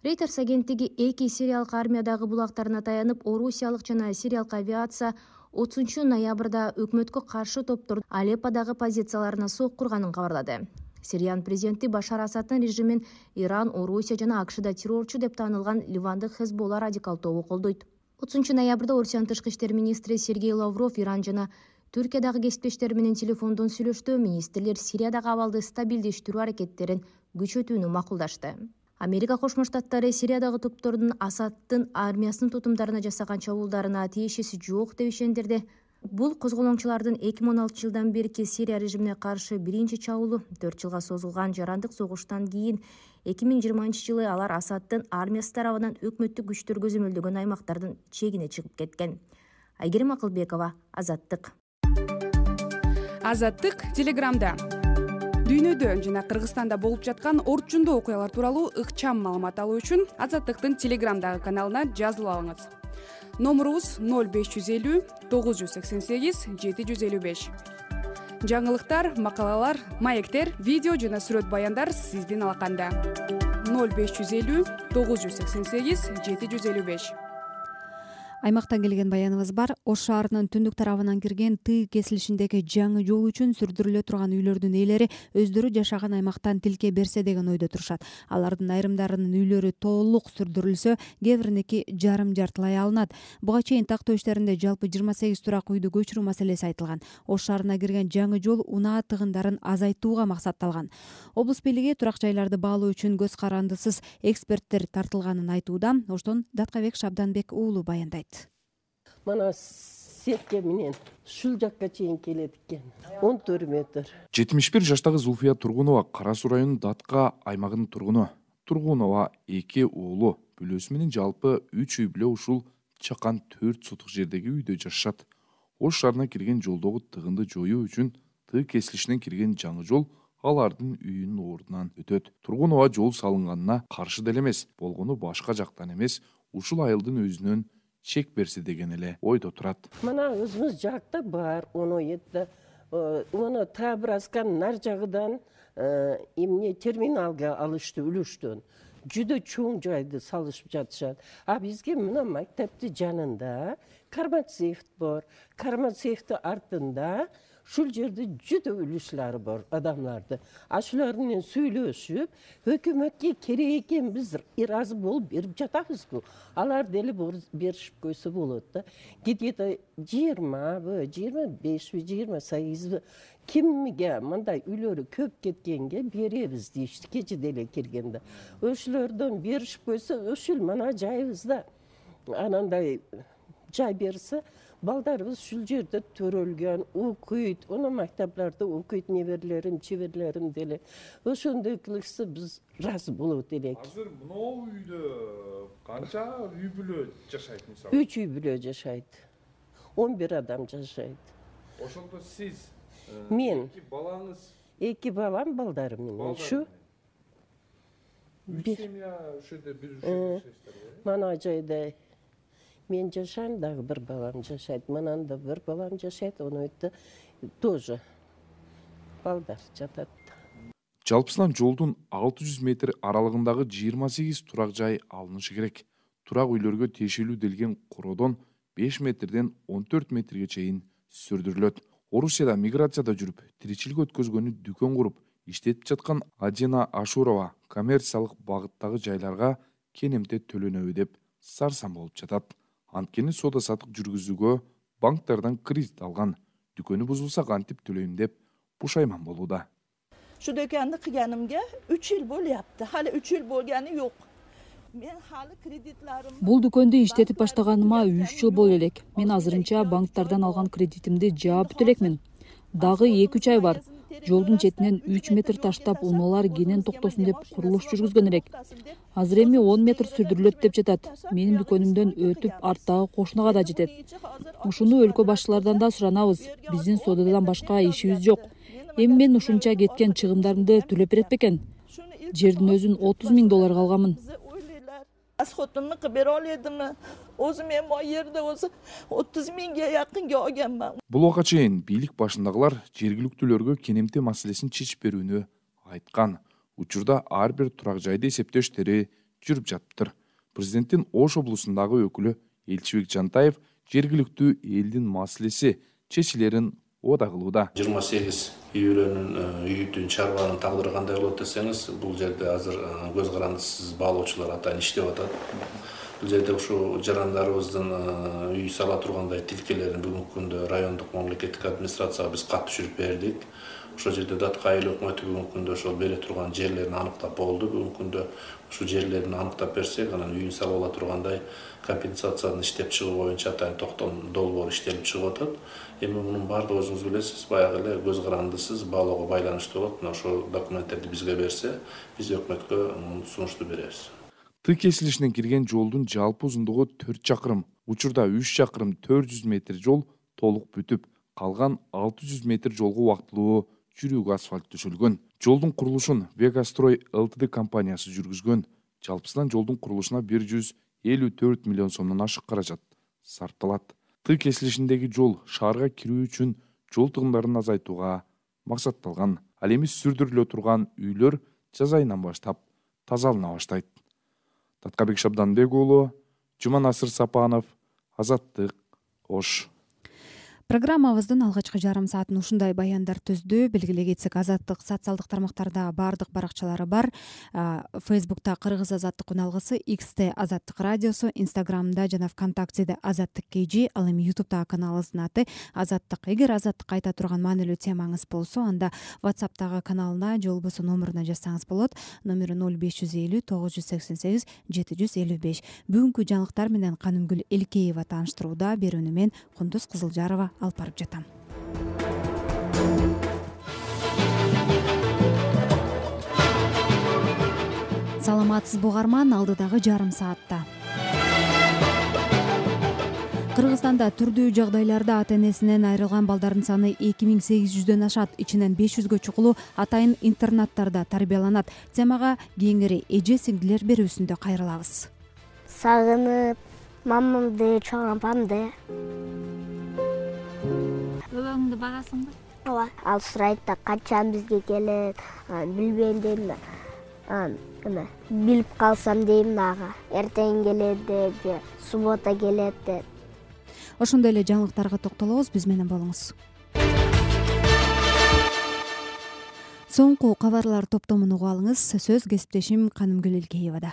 Reuters агенттиги эки сириялык армиядагы булактарына таянып, орусиялык жана сириялык авиация отузунчу ноябрда өкмөткө каршы топтор Алепподагы позицияларына соккурганын кабарлады. Сириянын президенти Башар Асаддын режимин Иран, Орусия жана АКШда террорчу деп таанылган Ливандык Хезболла радикал тобу колдойт. отузунчу ноябрда Орусиянын тышкы иштер министри Сергей Лавров Иран жана Түркиядагы кесиптештери менен телефондон сүйлөштү. Министрлер Сириядагы абалды стабилдештирүү аракеттерин күчөтүүнү макулдашты. Америка Кошмо Штаттары Сириядагы топтордун Асаддын армиясынын тутумдарына жасаган чабуулдарына тиешеси жок деп ишендирди. Бул козголоңчулардын эки миң он алтынчы жылдан берки Сирия режимине каршы биринчи чабуулу. төрт жылга созулган жарандык согуштан кийин эки миң жыйырманчы жылы алар Асаддын армиясы тарабынан өкмөттүк күчтөр көзөмөлдөгөн аймактардын чегине чыгып кеткен. Айгерим Акылбекова, Азаттык. Азаттык Телеграмда. Дүйнөдө жана Кыргызстанда болуп жаткан орчундуу окуялар тууралуу ыкчам маалымат алуу үчүн Азаттыктын Телеграмдагы каналына жазылып алыңыз. Номурубуз ноль беш жүз элүү тогуз жүз сексен сегиз жети жүз элүү беш. Жаңылыктар, макалалар, маектер, видео жана сүрөт баяндар сиздин алаканда. ноль беш жүз элүү тогуз жүз сексен сегиз жети жүз элүү беш. Аймактан келген баяныбыз бар. Ош шаарынын түндүк тарабынан кирген Ты кесилишиндеги жаңы жол үчүн сүрдүрүлө турган үйлөрдүн ээлери өздөрү жашаган аймактан тилке берсе деген ойдо турушат. Алардын айрымдарынын үйлөрү толук сүрдүрүлсө, кээ бириники жарым жартылай алынат. Буга чейин тактоо иштеринде жалпы жыйырма сегиз турак үйдү көчүрүү маселеси айтылган. Ош шаарына кирген жаңы жол унаа тыгындарын азайтууга максатталган. Облус бийлиги турак жайларды баалоо үчүн көз карандысыз эксперттер тартылганын айтууда. Оштон Даткабек Шабданбек уулу баяндайт. Мана сетке менен ушул жакка чейин келет экен. он төрт метр. жетимиш бир жаштагы Зулфия Тургунова Кара Суу районунун Датка аймагынын тургуну. Тургунова эки уулу, бүлөсү менен жалпы үч үй бүлө ушул чакан төрт сотук жердеги үйдө жашашат. Ош шаарына кирген жолдогу тыгынды жоюу үчүн Ты кесилишинен кирген жаңы жол алардын үйүнүн ордунан өтөт. Тургунова жол салынганына каршы деле эмес, болгону башка жактан эмес, ушул айылдын өзүнөн чек берсе деген эле ойдо турат. Мына өзүбүз жакта бар, он жети мына Табраскан нар жагыдан эмне терминалга алышты үлүштөн. Жүдө чоң жайды салышып жатышат. А бизге мына мектептин жанында Кармацеев бар. Кармацеевдин артында ушул жерде жүдө үлүшлөр бар адамларды. Ашулар менен сүйлөшүп, өкмөткө керек экен биз ыраазы болуп берип жатабызбы? Алар деле беришип койсо болот да. Где-то жыйырма, жыйырма беш, жыйырма сегиз кимге мындай үйлөрү көп кеткенге беребиз дейишти кече деле киргенде. Ошолордон беришип койсо, ушул мына жайыбызда анандай жай берсе, балдарыбыз ушул жерде төрөлгөн, окуйт, оны мектеплерде окуйт, неберлерим, чеберлерим деле. Ошондой кылышса биз ыраазы болот элек. Азыр мынау үйдө канча үй бүлө жашайт мисалы? үч үй бүлө жашайт. он бир адам жашайт. Ошондо сиз мен эки балаңыз, эки балам, балдарым менен ушу. Үч семья ушерде бир жашайсыздар. Мана жайда мен жашайм, дагы бир балам жашайт. Манан да бир балам жашайт, он өтө тоже балдар жатат. Жалпысынан жолдун алты жүз метр аралыгындагы жыйырма сегиз турак жай алынышы керек. Турак үйлөргө тиешелүү делген короодон беш метрден он төрт метрге чейин сүрдүрүлөт. Орусияда миграцияда жүрүп, тиричилик өткөзгөнү дүкөн куруп иштетип жаткан Адина Ашурова коммерциялык багыттагы жайларга кенемте төлөнөбү деп сарсан болуп жатат. Анткени соода сатык жүргүзүүгө банктардан кредит алган. Дүкөнү бузулса кантип төлөйм деп пушайман болууда. Şu dükkanı kıyanımga üç yıl bo'lyapti. Hali üç yıl bo'lgani yo'q. Men hali kreditlarimni Бул дүкөндү иштетип баштаганыма үч жыл боло элек. Мен азырынча банктардан алган кредитимди жаап бүтө элекмин. Дагы эки үч ай бар. Жолдун четинен үч метр таштап унаалар кенен токтосун деп курулуш жүргүзгөн элек. Азыр эми он метр сүрдүрүлөт деп жатат. Менин дүкөнүмдөн өтүп арттагы кошунага да жетет. Ушуну өлкө башчылардан да суранабыз. Биздин соодадан башка ишибиз жок. Эми мен ушунча кеткен чыгымдарымды төлөп берет бекен? Жердин өзүн отуз миң долларга алганмын. Asxotunni qilib bera oladimi? O'zim ham o yerda o'zi o'ttiz mingga yaqinga olganman. Бул убакка чейин бийлик башындагылар жергиликтүүлөргө кенемте маселесин чечип берүүнү айткан. Учурда ар бир турак жайды эсептөө иштери жүрүп жатыптыр. Президенттин Ош облусундагы өкүлү Элчибек Жантаев жергиликтүү элдин маселеси чечилерин ода кылууда. жыйырма сегиз үй бүлөнүн үйүтүн чарбанын тагдыры кандай болот десеңиз, бул жерде азыр көз карандысыз баалоочулар атайын иштеп атат. Бул жерде ушу жарандарыбыздын үй сала тургандай тилкелерин бүгүнкү күндө райондук мамлекеттик администрацияга биз кат түшүрүп бердик. Ошол жерде Датка айыл өкмөтү бүгүнкү күндө ошол бере турган жерлерин аныктап болду. Бүгүнкү күндө ушу жерлерин аныктап берсек, анан үйүн салып ала тургандай компенсацияны иштеп чыгуу боюнча атайын токтом долбоор иштелип чыгып атат. Эми мунун баардыгы өзүңүз билесиз, баягы эле көз карандысыз баалоого байланыштуу болот. Мына ошол документтерди бизге берсе, биз өкмөткө сунушту беребиз. Ты кесилишинен кирген жолдун жалпы узундугу төрт чакырым. Учурда үч чакырым төрт жүз метр жол толук бүтүп, калган алты жүз метр жолго убактылуу жүрүүгө асфальт төшөлгөн. Жолдун курулушун Вегастрой Лтд компаниясы жүргүзгөн. Жалпысынан жолдун курулушуна бир жүз элүү төрт миллион сомдон ашык каражат сарпталат. Ты кесилишиндеги жол шаарга кирүү үчүн жол тыгындарын азайтууга максатталган. Ал эми сүрдүрүлө турган үйлөр жаз айынан баштап тазалана баштайт. Таткабек Шабданбек уулу, Жуманасыр Сапанов, Азаттык, Ош. Программабыздын алгачкы жарым саатын ушундай баяндар түздү. Белгилей кетсек, Азаттык социалдык тармактарда бардык баракчалары бар. Фейсбукта Кыргыз Азаттык үналгысы, X'те Азаттык радиосу, Инстаграмда жана ВКонтактеде Азаттык кей жи, ал эми Ютубта каналыбыздын аты Азаттык. Эгер Азаттык айта турган маанилүү темаңыз болсо, анда WhatsApp'тагы каналына же болбосо номуруна жазсаңыз болот. Номери ноль беш жүз элүү тогуз жүз сексен сегиз жети жүз элүү беш. Бүгүнкү жаңылыктар менен Канымгүл Элкеева тааныштырууда. Берүүнү мен Кундуз Кызылжарова алып барып жатам. Саламатсызбы угарман, алдыдагы жарым саатта Кыргызстанда түрдүү жагдайларда ата энесинен айрылган балдардын саны эки миң сегиз жүздөн ашат. Ичинен беш жүзгө чукулу атайын интернаттарда тарбияланат. Темага кеңири эже сиңдилер берүүсүндө кайрылабыз. Сагынып мамамды, чоң апамды. Бөбөңдү багасыңбы? Ооба. Ал сурайт да качан бизге келет, билбейм дейм да. Эме, билип калсам дейм дагы. Эртең келет деп, же суббота келет деп. Ошондой эле жаңылыктарга токтолобуз, биз менен болуңуз. Соңку кабарлар топтомун угуп алыңыз. Сөз кесиптешим Канымгүл Илкеевада.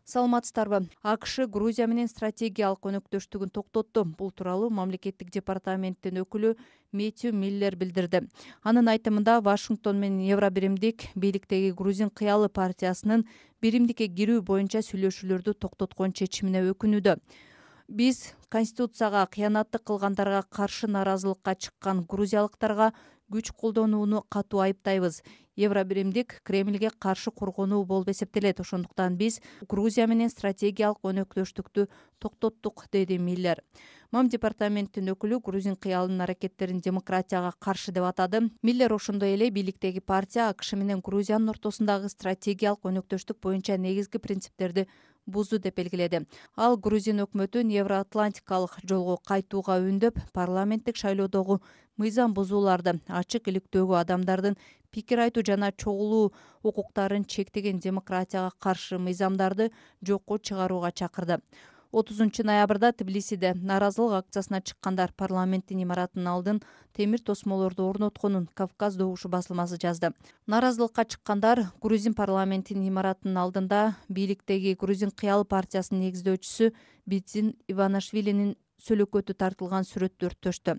Саламатсыздарбы? АКШ Грузия менен стратегиялык өнөктөштүгүн токтотту. Бул тууралуу мамлекеттик департаменттин өкүлү Мэтью Миллер билдирди. Анын айтымында Вашингтон менен Евробиримдик бийликтеги Грузин кыялы партиясынын биримдикке кирүү боюнча сүйлөшүүлөрдү токтоткон чечимине өкүнүүдө. Биз Конституцияга кыянаттык кылгандарга каршы нааразылыкка чыккан грузиялыктарга күч колдонууну катуу айыптайбыз. Евробиримдик Кремльге каршы коргонуу болуп эсептелет. Ошондуктан биз Грузия менен стратегиялык өнөктөштүктү токтоттук, деди Миллер. Мам департаменттин өкүлү Грузин кыялынын аракеттерин демократияга каршы деп атады. Миллер ошондой эле бийликтеги партия АКШ менен Грузиянын ортосундагы стратегиялык өнөктөштүк боюнча негизги принциптерди бузду деп белгиледи. Ал Грузин өкмөтүн евроатлантикалык жолго кайтууга үндөп, парламенттик шайлоодогу мыйзам бузууларды, ачык иликтөөгө адамдардын пикир айтуу жана чогулуу укуктарын чектеген демократияга каршы мыйзамдарды жокко чыгарууга чакырды. отузунчу ноябрда Тбилисиде нааразылык акциясына чыккандар парламенттин имаратынын алдын темир тосмолорду орнотконун Кавказ добушу басылмасы жазды. Нааразылыкка чыккандар Грузин парламентинин имаратынын алдында бийликтеги Грузин кыялы партиясынын негиздөөчүсү Битзин Иванашвилинин сөлөкөтү тартылган сүрөттү өрттөштү.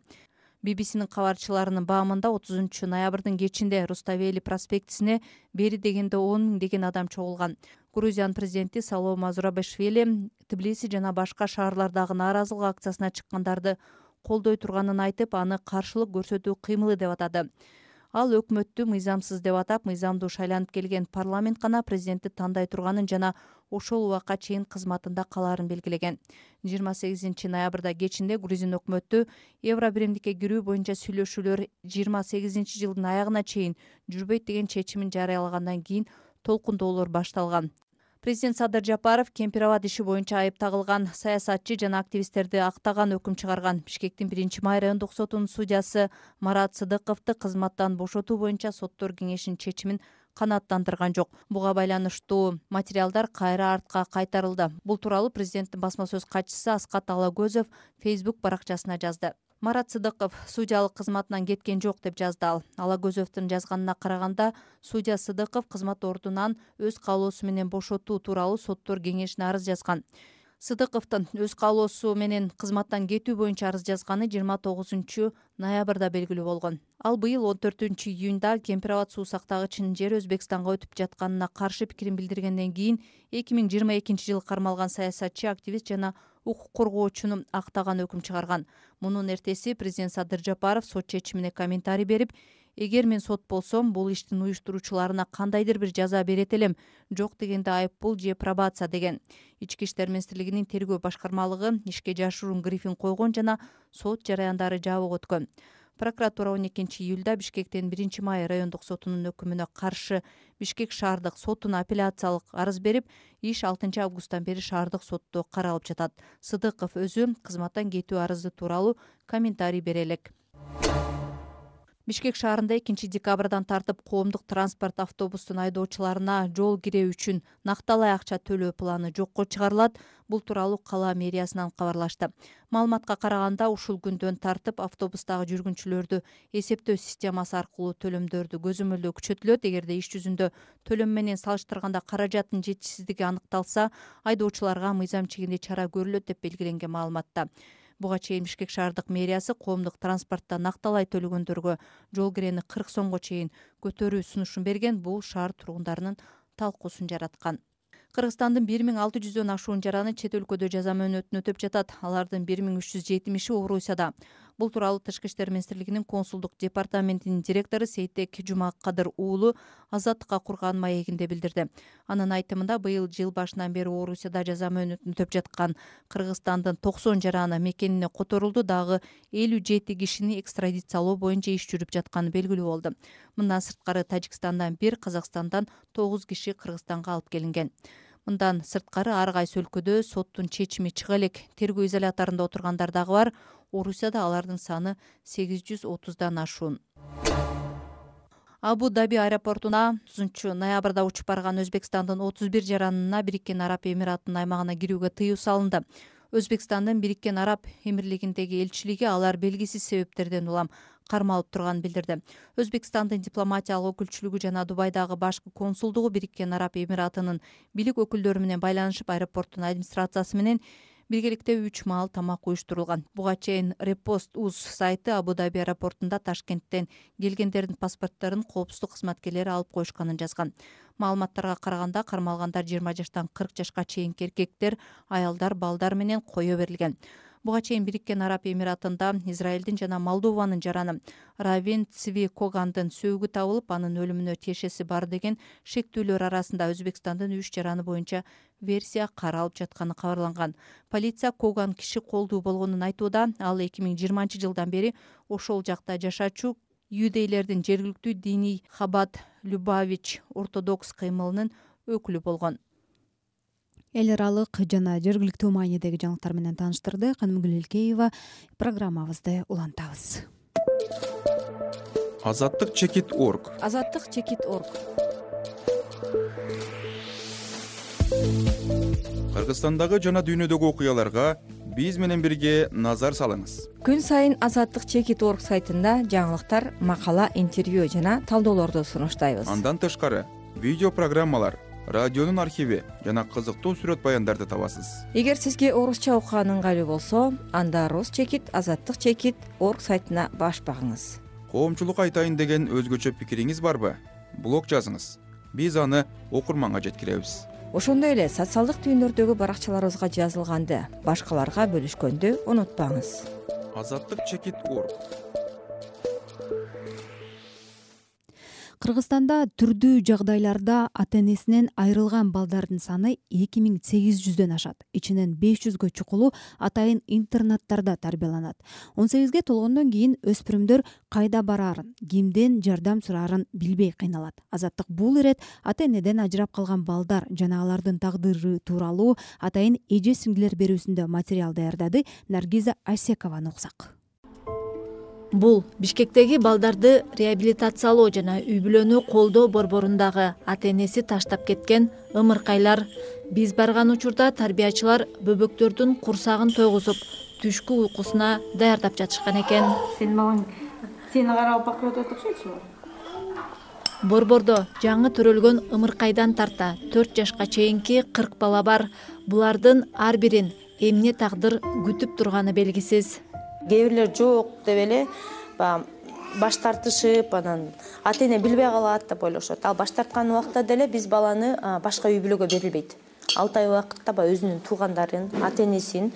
би би синин кабарчыларынын баамында отузунчу ноябрдын кечинде Руставели проспектисине бери дегенде он миң деген адам чогулган. Грузиянын президенти Салома Зурабишвили Тбилиси жана башка шаарлардагы нааразылык акциясына чыккандарды колдой турганын айтып, аны каршылык көрсөтүү кыймылы деп атады. Ал өкмөттү мыйзамсыз деп атап, мыйзамдуу шайланып келген парламент гана президентти тандай турганын жана ошол убакка чейин кызматында калаарын белгилеген. жыйырма сегизинчи ноябрда кечинде Грузин өкмөтү Евробиримдикке кирүү боюнча сүйлөшүүлөр жыйырма сегизинчи жылдын аягына чейин жүрбөйт деген чечимин жарыялагандан кийин толкундоолор башталган. Президент Садыр Жапаров Кемпир-Абад иши боюнча айып тагылган саясатчы жана активисттерди актаган өкүм чыгарган. Бишкектин биринчи май райондук сотунун судьясы Марат Сыдыковду кызматтан бошотуу боюнча соттор кеңешинин чечимин канааттандырган жок. Буга байланыштуу материалдар кайра артка кайтарылды. Бул тууралуу президенттин басма сөз катчысы Аскат Алагөзов Facebook баракчасына жазды. Марат Сыдыков судьялык кызматынан кеткен жок деп жазды ал. Алагөзовдун жазганына караганда, судья Сыдыков кызмат ордунан өз каалоосу менен бошотуу тууралуу соттор кеңешине арыз жазган. Сыдыковдун өз каалоосу менен кызматтан кетүү боюнча арыз жазганы жыйырма тогузунчу ноябрда белгилүү болгон. Ал быйыл он төртүнчү июнда Кемпир-Абад суу сактагычынын жери Өзбекстанга өтүп жатканына каршы пикирин билдиргенден кийин эки миң жыйырма экинчи жылы кармалган саясатчы, активист жана укук коргоочуну актаган өкүм чыгарган. Мунун эртеси президент Садыр Жапаров сот чечимине комментарий берип, эгер мен сот болсом, бул иштин уюштуруучуларына кандайдыр бир жаза берет элем, жок дегенде айыппул же пробация деген. Ички иштер министрлигинин тергөө башкармалыгы ишке жашыруун брифинг койгон жана сот жараяндары жабык өткөн. Прокуратура он экинчи июлда Бишкектин биринчи май райондук сотунун өкүмүнө каршы Бишкек шаардык сотуна апелляциялык арыз берип, иш алтынчы августтан бери шаардык сотто каралып жатат. Сыдыков өзү кызматтан кетүү арызы тууралуу комментарий бере элек. Бишкек шаарында экинчи декабрдан тартып коомдук транспорт автобустун айдоочуларына жол кирээ үчүн накталай акча төлөө планы жокко чыгарылат. Бул тууралуу кала мэриясынан кабарлашты. Маалыматка караганда, ушул күндөн тартып автобустагы жүргүнчүлөрдү эсептөө системасы аркылуу төлөмдөрдү көзөмөлдөө күчөтүлөт. Эгерде иш жүзүндө төлөм менен салыштырганда каражаттын жетишсиздиги аныкталса, айдоочуларга мыйзам чегинде чара көрүлөт деп белгиленген маалыматта. Буга чейин Бишкек шаардык мэриясы коомдук транспортто накталай төлөгөндөргө жол кирени кырк сомго чейин көтөрүү сунушун берген. Бул шаар тургундарынын талкуусун жараткан. Кыргызстандын бир миң алты жүздөн ашуун жараны чет өлкөдө жаза мөөнөтүн өтөп жатат. Алардын бир миң үч жүз жетимиши Орусияда. Бул тууралуу Тышкы иштер министрлигинин консулдук департаментинин директору Сейтек Жумакадыр уулу Азаттыкка курган маегинде билдирди. Анын айтымында быйыл жыл башынан бери Орусияда жаза мөөнөтүн өтөп жаткан Кыргызстандын токсон жараны мекенине которулду, дагы элүү жети кишини экстрадициялоо боюнча иш жүрүп жатканы белгилүү болду. Мындан сырткары Тажикстандан бир, Казакстандан тогуз киши Кыргызстанга алып келинген. Мындан сырткары ар кайсы өлкөдө соттун чечими чыга элек. Тергөө изоляторунда отургандар дагы бар. Орусияда алардын саны сегиз жүз отуздан ашуун. Абу-Даби аэропортуна тогузунчу ноябрда учуп барган Өзбекстандын отуз бир жаранына Бириккен Араб Эмиратынын аймагына кирүүгө тыюу салынды. Өзбекстандын Бириккен Араб Эмирлигиндеги элчилиги алар белгисиз себептерден улам кармалып турганын билдирди. Өзбекстандын дипломатиялык өкүлчүлүгү жана Дубайдагы башкы консулдугу Бириккен Араб Эмиратынын бийлик өкүлдөрү менен байланышып, аэропорттун администрациясы менен биргеликте үч маал тамак уюштурулган. Буга чейин Репост.уз сайты Абу-Даби аэропортунда Ташкенттен келгендердин паспортторун коопсуздук кызматкерлери алып коюшканын жазган. Маалыматтарга караганда кармалгандар жыйырма жаштан кырк жашка чейинки эркектер, аялдар, балдар менен кое берилген. Буга чейин Бириккен Араб Эмиратында Израилдин жана Молдованын жараны Равин Цви Когандын сөөгү табылып, анын өлүмүнө тиешеси бар деген шектүүлөр арасында Өзбекстандын үч жараны боюнча версия каралып жатканы кабарланган. Полиция Коган киши колдуу болгонун айтууда. Ал эки миң жыйырманчы жылдан бери ошол жакта жашачу юдейлердин жергиликтүү диний Хабат Любавич ортодокс кыймылынын өкүлү болгон. Эл аралык жана жергиликтүү маанидеги жаңылыктар менен тааныштырды Канымгүл Элкеева. Программабызды улантабыз. Азаттык чекит орг. Азаттык чекит орг. Кыргызстандагы жана дүйнөдөгү окуяларга биз менен бирге назар салыңыз. Күн сайын Азаттык чекит орг сайтында жаңылыктар, макала, интервью жана талдоолорду сунуштайбыз. Андан тышкары видео программалар, радионун архиви жана кызыктуу сүрөт баяндарды табасыз. Эгер сизге орусча окуган ыңгайлуу болсо, анда Рус чекит, Азаттык чекит орг сайтына баш багыңыз. Коомчулук айтайын деген өзгөчө пикириңиз барбы? Блог жазыңыз. Биз аны окурманга жеткиребиз. Ошондой эле социалдык түйүндөрдөгү баракчаларыбызга жазылганды башкаларга бөлүшкөндү унутпаңыз. Азаттык чекит орг. Кыргызстанда түрдүү жагдайларда ата-энесинен айрылган балдардын саны эки миң сегиз жүздөн ашат. Ичинен беш жүзгө чукулу атайын интернаттарда тарбияланат. он сегизге толгондон кийин өспүрүмдөр кайда бараарын, кимден жардам сураарын билбей кыйналат. Азаттык бул ирет ата-энеден ажырап калган балдар жана алардын тагдыры тууралуу атайын эже-сиңдилер берүүсүндө материал даярдады. Наргиза Асекованы уксак. Бул Бишкектеги балдарды реабилитациялоо жана үй-бүлөнү колдоо борборундагы ата-энеси таштап кеткен ымыркайлар. Биз барган учурда тарбиячылар бөбөктөрдүн курсагын тойгузуп, түшкү уйкусуна даярдап жатышкан экен. Сен балаң сени карап бакырып атат окшойсуң. Борбордо жаңы төрөлгөн ымыркайдан тарта төрт жашка чейинки кырк бала бар. Булардын ар бирин эмне тагдыр күтүп турганы белгисиз. Кээ бирлер жок деп эле баш тартышып, анан ата-эне билбей калат деп ойлошот. Ал баш тарткан убакта деле биз баланы башка үй-бүлөгө берилбейт. алты ай убакытта өзүнүн туугандарын, ата-энесин,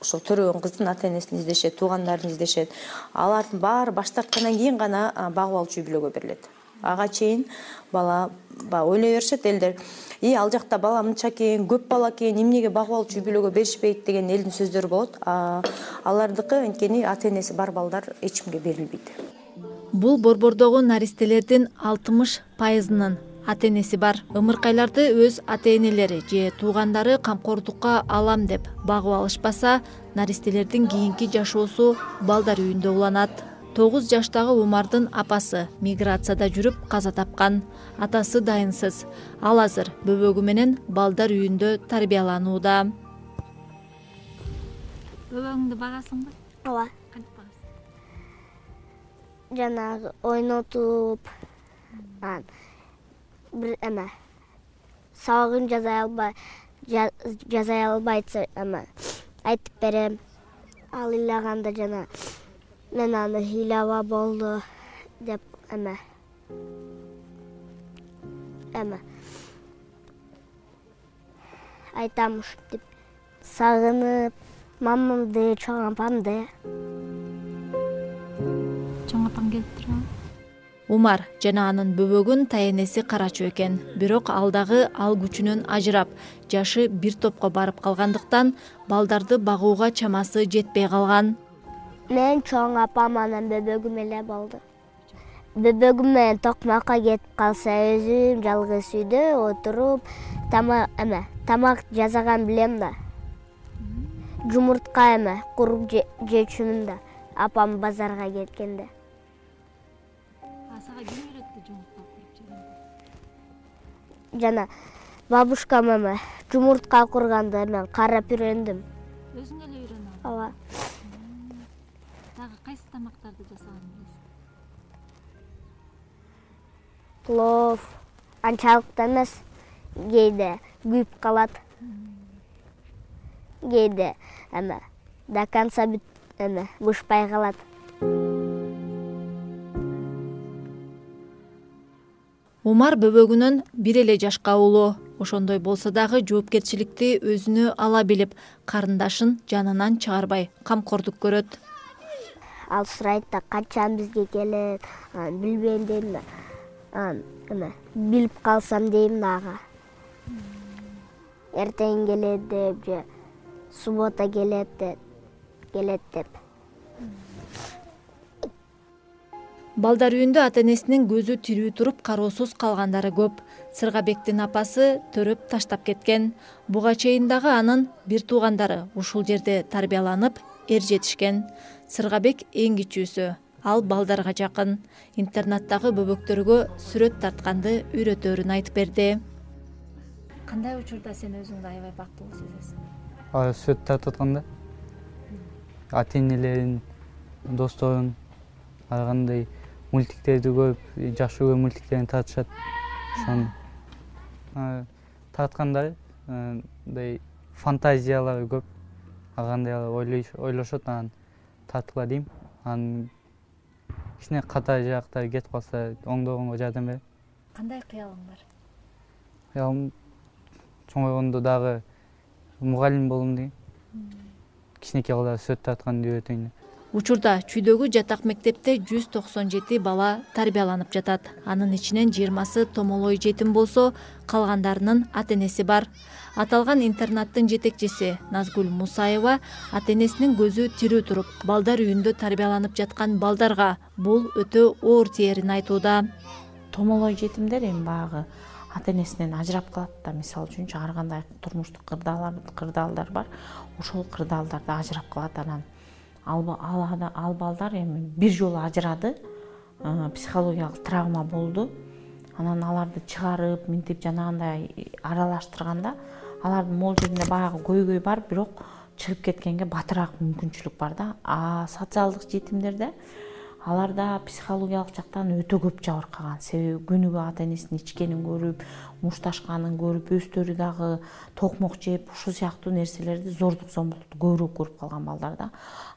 ошол төрөгөн кыздын ата-энесин издешет, туугандарын издешет. Алардын баары баш тарткандан кийин гана багып алчу үй-бүлөгө берилет. Ага чейин бала ойлой беришет элдер. И ал жакта бала мынча экен, көп бала экен, эмнеге багып алчу үй-бүлөгө беришпейт деген элдин сөздөрү болот. Алардыкы анткени ата-энеси бар балдар эч кимге берилбейт. Бул борбордогу наристелердин алтымыш пайызынын ата-энеси бар. Ымыркайларды өз ата-энелери же туугандары камкордукка алам деп багып алышпаса, наристелердин кийинки жашоосу балдар үйүндө уланат. тогуз жаштагы Умардын апасы миграцияда жүрүп каза тапкан. Атасы дайынсыз. Ал азыр бөбөгү менен балдар үйүндө тарбияланууда. Бөбөгүңдү багасыңбы? Ооба. Кантип багасың? Жанагы ойнотуп, ан бир эме сабагын жаза албай, жаза албайса эме айтып берем. Ал ыйлаганда жана мен аны ыйлаба болду деп эме эме айтам ушинтип сагынып мамамды, чоң апамды. Чоң апаң келип турабы? Умар жана анын бөбөгүн таянеси карачу экен. Бирок ал дагы ал күчүнөн ажырап, жашы бир топко барып калгандыктан балдарды багууга чамасы жетпей калган. Мен чоң апам анан бөбөгүм эле болду. Бөбөгүм менен токмакка кетип калса, өзүм жалгыз үйдө отуруп, тамак эме, тамак жасаган билем да. Жумуртка эме, куруп жечүмүн да, апам базарга кеткенде. Сага ким үйрөттү жумуртка куруп жегенди? Жана бабушкам эме, жумуртка курганда мен карап үйрөндүм. Өзүң эле үйрөнүп? Ооба. Дагы кайсы тамактарды жасаганын билесиң? Плов, анчалык да эмес, кээде күйүп калат. Кээде эме, до конца бүт эме, бышпай калат. Умар бөбөгүнөн бир эле жашка улуу. Ошондой болсо дагы жоопкерчиликти өзүнө ала билип, карындашын жанынан чыгарбай камкордук көрөт. Ал сурайт да качан бизге келет, билбейм дейм да. Эме, билип калсам дейм дагы. Эртең келет деп же суббота келет деп, келет деп. Балдар үйүндө ата-энесинин көзү тирүү туруп кароосуз калгандары көп. Сыргабектин апасы төрөп таштап кеткен. Буга чейин дагы анын бир туугандары ушул жерде тарбияланып, эр жетишкен. Сыргабек эң кичүүсү. Ал балдарга жакын. Интернаттагы бөбөктөргө сүрөт тартканды үйрөтөөрүн айтып берди. Кандай учурда сен өзүңдү аябай бактылуу сезесиң? Сүрөт тартып атканда ата-энелерин, досторун, ар кандай мультиктерди көрүп, жакшы көргөн мультиктерин тартышат. Ошону тарткандар мындай фантазиялары көп. Ар кандай ойлошот, анан тарткыла дейм. Анан кичине ката жаактары кетип калса, оңдогонго жардам берем. Кандай кыялың бар? Кыялым чоңойгондо дагы мугалим болом дейм. Кичинекей балдар сүрөт тартканды үйрөтөйүн деп. Учурда чүйдөгү жатак мектепте жүз токсон жети бала тарбияланып жатат. Анын ичинен жыйырмасы томолой жетим болсо, калгандарынын ата-энеси бар. Аталган интернаттын жетекчиси Назгүл Мусаева ата-энесинин көзү тирүү туруп, балдар үйүндө тарбияланып жаткан балдарга бул өтө оор тиерин айтууда. Томолой жетимдер эми баягы ата-энесинен ажырап калат да, мисалы үчүнчү ар кандай турмуштук кырдаалдар бар. Ошол кырдаалдарда ажырап калат. Анан ал балдар эми бир жолу ажырады, психологиялык травма болду. Анан аларды чыгарып, минтип жанагындай аралаштырганда, алардын могул жеринде баягы көйгөй бар, бирок чыгып кеткенге батыраак мүмкүнчүлүк бар да. А социалдык жетимдерде аларда психологиялык жактан өтө көп жабыркаган. Себеби күнүгө ата-энесинин ичкенин көрүп, мушташканын көрүп, өздөрү дагы токмок жеп, ушул сыяктуу нерселерди, зордук зомбулукту көбүрөөк көрүп калган балдар да.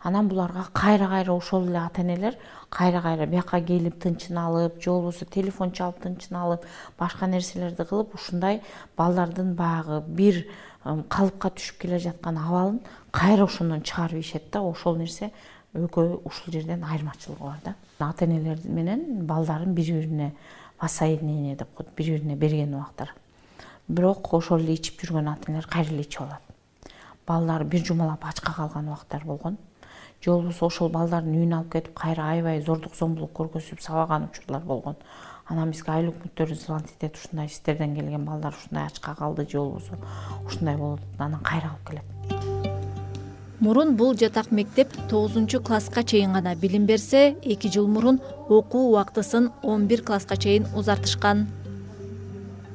Анан буларга кайра-кайра ошол эле ата-энелер кайра-кайра бияка келип тынчын алып, же болбосо телефон чалып тынчын алып, башка нерселерди кылып, ушундай балдардын баягы бир калыпка түшүп келе жаткан абалын кайра ошондон чыгарып ийишет да. Ошол нерсе экөө ушул жерден айырмачылыгы бар да. Ата-энелер менен балдарын бири-бирине воссоединение деп коет, бири-бирине берген убактар. Бирок ошол эле ичип жүргөн ата-энелер кайра эле ичип алат. Балдар бир жумалап ачка калган убактар болгон. Же болбосо ошол балдардын үйүнө алып кетип кайра аябай зордук зомбулук көргөзүп сабаган учурлар болгон. Анан бизге айыл өкмөттөрү звонить этет, ушундай сиздерден келген балдар ушундай ачка калды, же болбосо ушундай болуп, анан кайра алып келет. Мурун бул жатак мектеп тогузунчу класска чейин гана билим берсе, эки жыл мурун окуу убактысын он бир класска чейин узартышкан.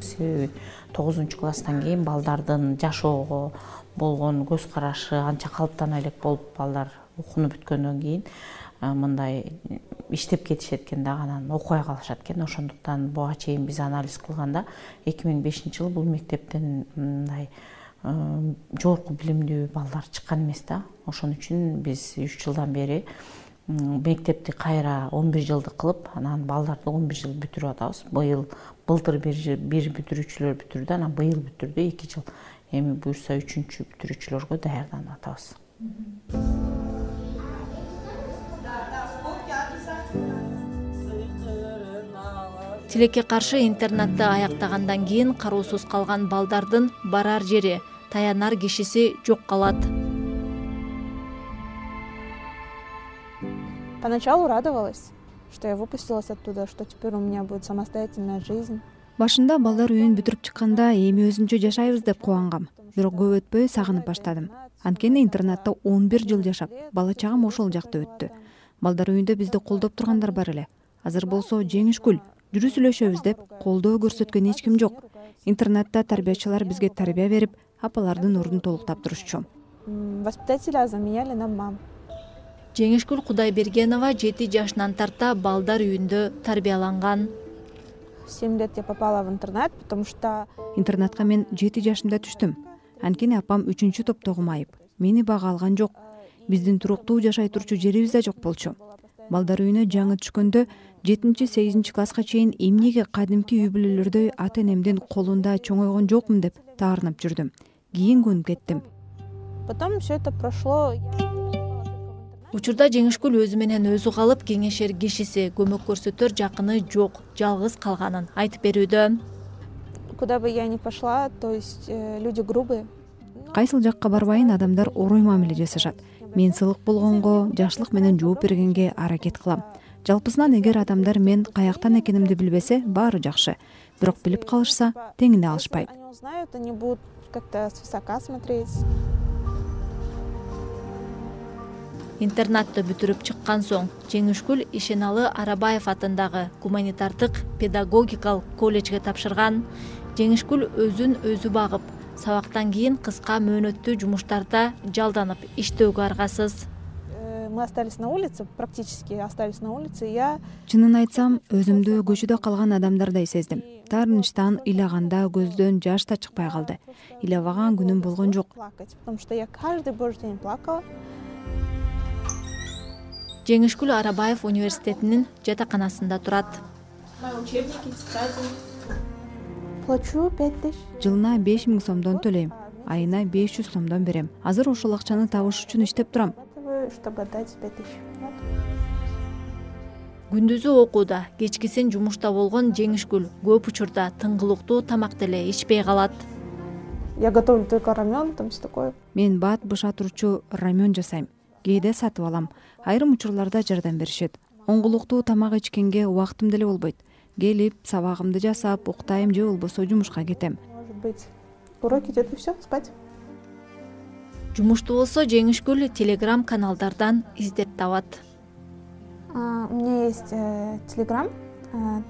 Себеби тогузунчу класстан кийин балдардын жашоого болгон көз карашы анча калыптана элек болуп, балдар окууну бүткөндөн кийин мындай иштеп кетишет экен да, анан окубай калышат экен. Ошондуктан буга чейин биз анализ кылганда эки миң бешинчи жылы бул мектептен мындай жогорку билимдүү балдар чыккан эмес да. Ошон үчүн биз үч жылдан бери мектепти кайра он бир жылдык кылып, анан балдарды он бир жыл бүтүрүп атабыз. Быйыл былтыр бир бүтүрүүчүлөр бүтүрдү, анан быйыл бүтүрдү, эки жыл. эми буюрса үчүнчү бүтүрүүчүлөргө даярданып атабыз. Тилекке каршы интернатты аяктагандан кийин кароосуз калган балдардын барар жери, таянар кишиси жок калат. Поначалу радовалась, что я выпустилась оттуда, что теперь у меня будет самостоятельная жизнь. Башында балдар үйүн бүтүрүп чыкканда эми өзүнчө жашайбыз деп кубангам. Бирок көп өтпөй сагынып баштадым. Анткени интернатта он бир жыл жашап, бала чагам ошол жакта өттү. Балдар үйүндө бизди колдоп тургандар бар эле. Азыр болсо жеңишкүл, жүрү сүйлөшөбүз деп колдоо көрсөткөн эч ким жок. Интернатта тарбиячылар бизге тарбия берип, апалардын ордун толуктап турушчу. Воспитателя заменяли на мам. Жеңишкүл Кудайбергенова жети жашынан тарта балдар үйүндө тарбияланган. В семь лет я попала в интернат, потому что интернатка мен жети жашымда түштүм. Анткени апам үчүнчү топтогу майып. Мени бага алган жок. Биздин туруктуу жашай турчу жерибиз да жок болчу. Балдар үйүнө жаңы түшкөндө жетинчи сегизинчи класска чейин эмнеге кадимки үй бүлөлөрдөй ата энемдин колунда чоңойгон жокмун деп таарынып жүрдүм. Кийин көнүп кеттим. Потом все это прошло. Учурда Жеңишкүл өзү менен өзү калып, кеңешер кишиси, көмөк көрсөтөр жакыны жок, жалгыз калганын айтып берүүдө. Куда бы я ни пошла, то есть люди грубые. Кайсыл жакка барбайын адамдар орой мамиле жасашат. Мен сылык болгонго, жакшылык менен жооп бергенге аракет кылам. Жалпысынан эгер адамдар мен каяктан экенимди билбесе, баары жакшы. Бирок билип калышса, теңине алышпайт. Они узнают, они будут как-то свысока смотреть. Интернатты бүтүрүп чыккан соң Жеңишкүл Ишеналы Арабаев атындагы гуманитардык педагогикалык колледжге тапшырган. Жеңишкүл өзүн өзү багып, сабактан кийин кыска мөөнөттүү жумуштарда жалданып иштөөгө аргасыз. Мы остались на улице, практически остались на улице. Я Чынын айтсам, өзүмдү көчөдө калган адамдардай сездим. Таарынычтан ыйлаганда көздөн жаш да чыкпай калды. Ыйлабаган күнүм болгон жок. Потому что я каждый божий день плакала. Жеңишкүл Арабаев университетинин жатаканасында турат. Плачу пять тысяч. Жылына беш миң сомдон төлөйм. Айына беш жүз сомдон берем. Азыр ошол акчаны табыш үчүн иштеп турам. Чтобы отдать пять тысяч. Күндүзү окууда, кечкисин жумушта болгон Жеңишкүл көп учурда тыңгылыктуу тамак деле ичпей калат. Я готовлю только рамен, там все такое. Мен бат быша турчу рамен жасайм. Кээде сатып алам. Айрым учурларда жардам беришет. Оңгулуктуу тамак ичкенге убактым деле болбойт. Келип, сабагымды жасап, уктайм же болбосо жумушка кетем. Может быть, уроки идет и все, спать. Жумушту болсо Жеңишкүл Телеграм каналдардан издеп табат. У меня есть Телеграм,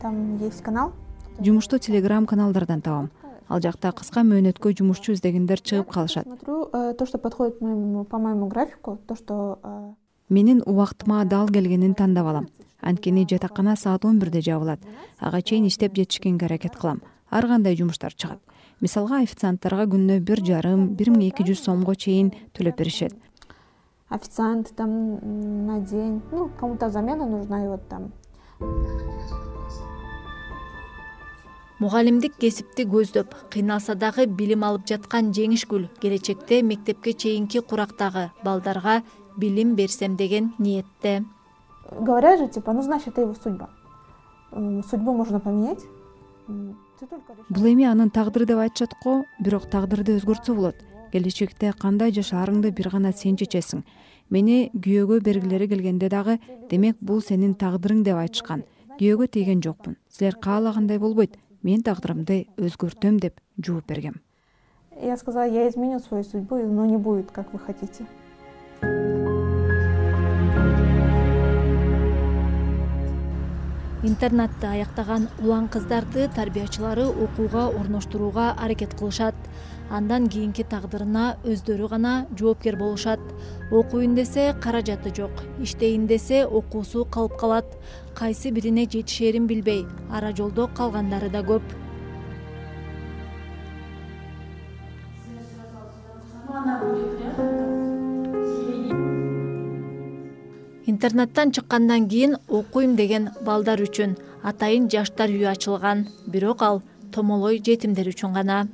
там есть канал. Жумушту Телеграм каналдардан табам. Ал жакта кыска мөөнөткө жумушчу издегендер чыгып калышат. Смотрю то, что подходит по моему графику, то, что Менин убактыма дал келгенин тандап алам. Анткени жатакана саат он бирде жабылат. Ага чейин иштеп жетишкенге аракет кылам. Ар кандай жумуштар чыгат. Мисалга официанттарга күнүнө бир жарым, бир миң эки жүз сомго чейин төлөп беришет. Официант там на день, ну, кому-то замена нужна, и вот там. Мугалимдик кесипти көздөп, кыйналса дагы билим алып жаткан Жеңишкүл келечекте мектепке чейинки курактагы балдарга билим берсем деген ниетте. Говорят же, типа, ну, значит, это его судьба. Судьбу можно поменять. Бул эми анын тагдыры деп айтышат го, бирок тагдырды өзгөртсө болот. Келечекте кандай жашаарыңды бир гана сен чечесиң. Мени күйөөгө бергилери келгенде дагы, демек бул сенин тагдырың деп айтышкан. Күйөөгө тийген жокмун. Силер каалагандай болбойт. Мен тагдырымды өзгөртөм деп жооп бергем. Я сказала, я изменю свою судьбу, но не будет, как вы хотите. Интернатты аяктаган улан кыздарды тарбиячылары окууга орноштурууга аракет кылышат. Андан кийинки тагдырына өздөрү гана жоопкер болушат. Окуйн десе каражаты жок, иштейин десе окуусу калып калат. Кайсы бирине жетишерин билбей, ара жолдо калгандары да көп. Интернаттан чыккандан кийин окуйм деген балдар үчүн атайын жаштар үйү ачылган, бирок ал томолой жетимдер үчүн гана.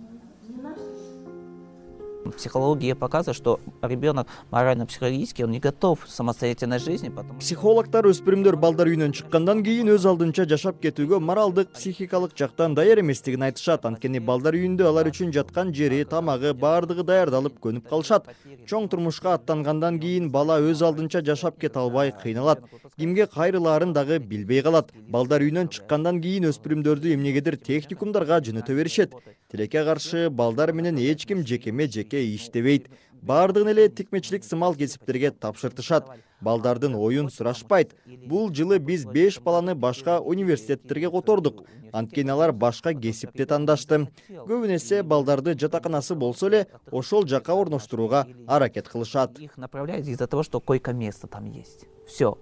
Психология показывает, что ребенок морально-психологически он не готов к самостоятельной жизни. Потому... Психологтар өспүрүмдөр балдар үйүнөн чыккандан кийин өз алдынча жашап кетүүгө моралдык, психикалык жактан даяр эместигин айтышат. Анткени балдар үйүндө алар үчүн жаткан жери, тамагы баардыгы даярдалып көнүп калышат. Чоң турмушка аттангандан кийин бала өз алдынча жашап кете албай кыйналат. Кимге кайрылаарын дагы билбей калат. Балдар үйүнөн чыккандан кийин өспүрүмдөрдү эмнегедир техникумдарга жөнөтө беришет. Тилекке каршы балдар менен эч ким жекеме жеке иштебейт. Бардыгын эле тикмечилик сымал кесиптерге тапшыртышат. Балдардын оюн сурашпайт. Бул жылы биз беш баланы башка университеттерге котордук. Анткени алар башка кесипти тандашты. Көбүн эсе балдарды жатаканасы болсо эле ошол жака орноштурууга аракет кылышат. Их направляют из-за того, что койко-место там есть. Все.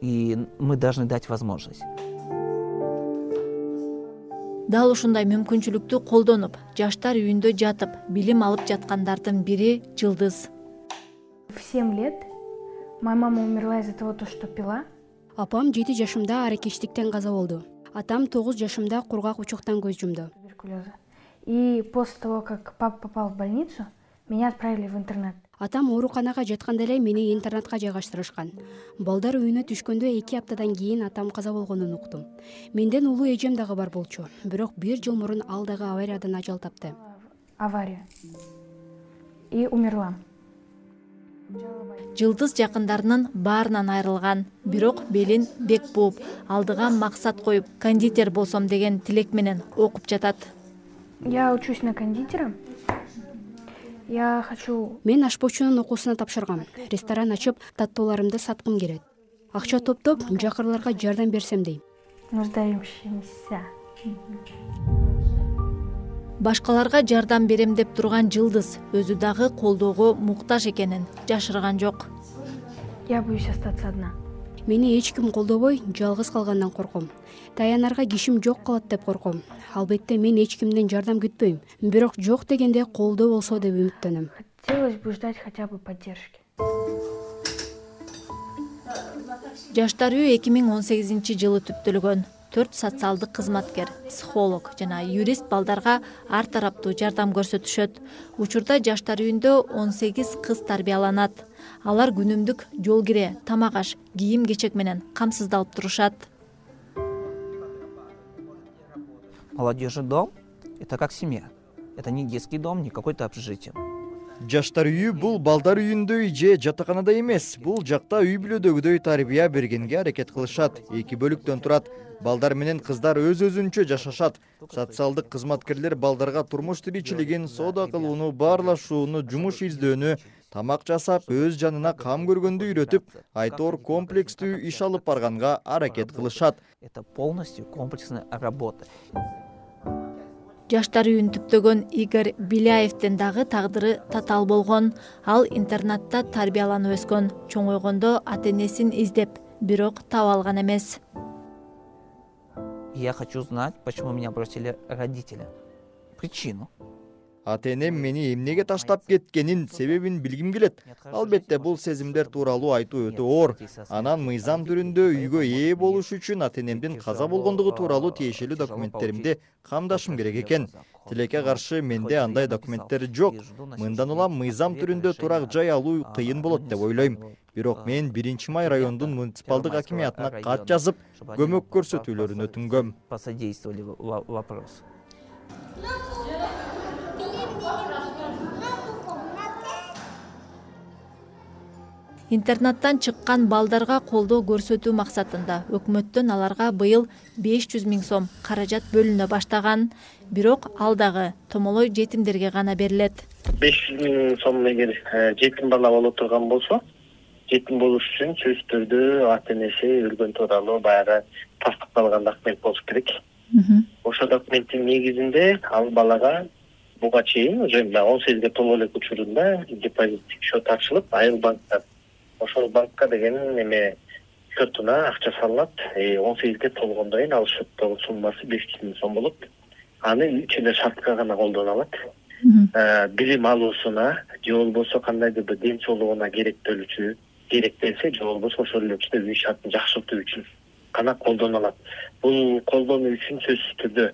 И мы должны дать возможность. Дал ушундай мүмкүнчүлүктү колдонуп, жаштар үйүндө жатып, билим алып жаткандардын бири Жылдыз. В семь лет моя мама умерла из-за того, что пила. Апам жети жашымда аракечтиктен каза болду. Атам тогуз жашымда кургак учуктан көз жумду. И после того, как папа попал в больницу, меня отправили в интернат. Атам ооруканага жатканда эле мени интернатка жайгаштырышкан. Балдар үйүнө түшкөндө эки аптадан кийин атам каза болгонун уктум. Менден улуу эжем дагы бар болчу. Бирок бир жыл мурун ал дагы авариядан ажал тапты. Авария. И умерла. Жылдыз жакындарынын баарынан айрылган, бирок белин бек бууп, алдыга максат коюп, кондитер болсом деген тилек менен окуп жатат. Я учусь на кондитера. Я хочу... Мен ашпоочунун окуусуна тапшыргам. Ресторан ачып, таттууларымды саткым келет. Акча топтоп, жакырларга жардам берсем дейм. Нуждающимся. Башкаларга жардам берем деп турган Жылдыз өзү дагы колдоого муктаж экенин жашырган жок. Я боюсь остаться одна. Мени эч ким колдобой, жалгыз калгандан корком. Таянарга кишим жок калат деп корком. Албетте мен эч кимден жардам күтпөйм. Бирок жок дегенде колдоо болсо деп үмүттөнөм. Хотелось бы ждать хотя бы поддержки. Жаштар үй эки миң он сегизинчи жылы түптөлгөн. Төрт социалдык кызматкер, психолог жана юрист балдарга ар тараптуу жардам көрсөтүшөт. Учурда жаштар үйүндө он сегиз кыз тарбияланат. Алар күнүмдүк жол кире, тамак аш, кийим-кечек менен камсыздалып турушат. Молодежный дом – это как семья. Это не детский дом, не какое-то общежитие. Жаштар үйү бул балдар үйүндөй же жатаканада эмес. Бул жакта үй бүлөдөгүдөй тарбия бергенге аракет кылышат. Эки бөлүктөн турат. Балдар менен кыздар өз-өзүнчө жашашат. Социалдык кызматкерлер балдарга турмуш тиричилигин, соода кылууну, баарлашууну, жумуш издөөнү, тамак жасап, өз жанына кам көргөндү үйрөтүп, айтор комплекстүү иш алып барганга аракет кылышат. Это полностью комплексная работа. Жаштар үйүн түптөгөн Игорь Беляевдин дагы тагдыры татаал болгон. Ал интернатта тарбияланып өскөн. Чоңойгондо ата-энесин издеп, бирок таба алган эмес. Я хочу знать, почему меня бросили родители. Причину. Ата-энем мени эмнеге таштап кеткенин себебин билгим келет. Албетте бул сезимдер тууралуу айтуу өтө оор. Анан мыйзам түрүндө үйгө ээ болуш үчүн ата-энемдин каза болгондугу тууралуу тиешелүү документтеримди камдашым керек экен. Тилекке каршы менде андай документтер жок. Мындан улам мыйзам түрүндө турак жай алуу кыйын болот деп ойлойм. Бирок мен биринчи май райондун муниципалдык акимиятына кат жазып, көмөк көрсөтүүлөрүн өтүнгөм. Посодействовали вопрос. Интернаттан чыккан балдарга колдоо көрсөтүү максатында өкмөттөн аларга быйыл беш жүз миң сом каражат бөлүнө баштаган. Бирок ал дагы томолой жетимдерге гана берилет. беш жүз миң сом эгер жетим бала боло турган болсо, жетим болуш үчүн сөзсүз түрдө ата-энеси өлгөн тууралуу баягы тастыкталган документ болуш керек. Ошол документтин негизинде ал балага буга чейин уже он сегизге толо элек учурунда депозиттик счет ачылып, айыл банктан ошол банкка деген эме счетуна акча салынат. он сегизге толгондон кийин ал счеттогу суммасы беш жүз миң сом болот. Аны үч эле шартка гана колдоно алат. Билим алуусуна же болбосо кандайдыр бир ден соолугуна керектөлүүчү, керектелсе же болбосо ошол эле учурда үй шартын жакшыртуу үчүн гана колдоно алат. Бул колдонуу үчүн сөзсүз түрдө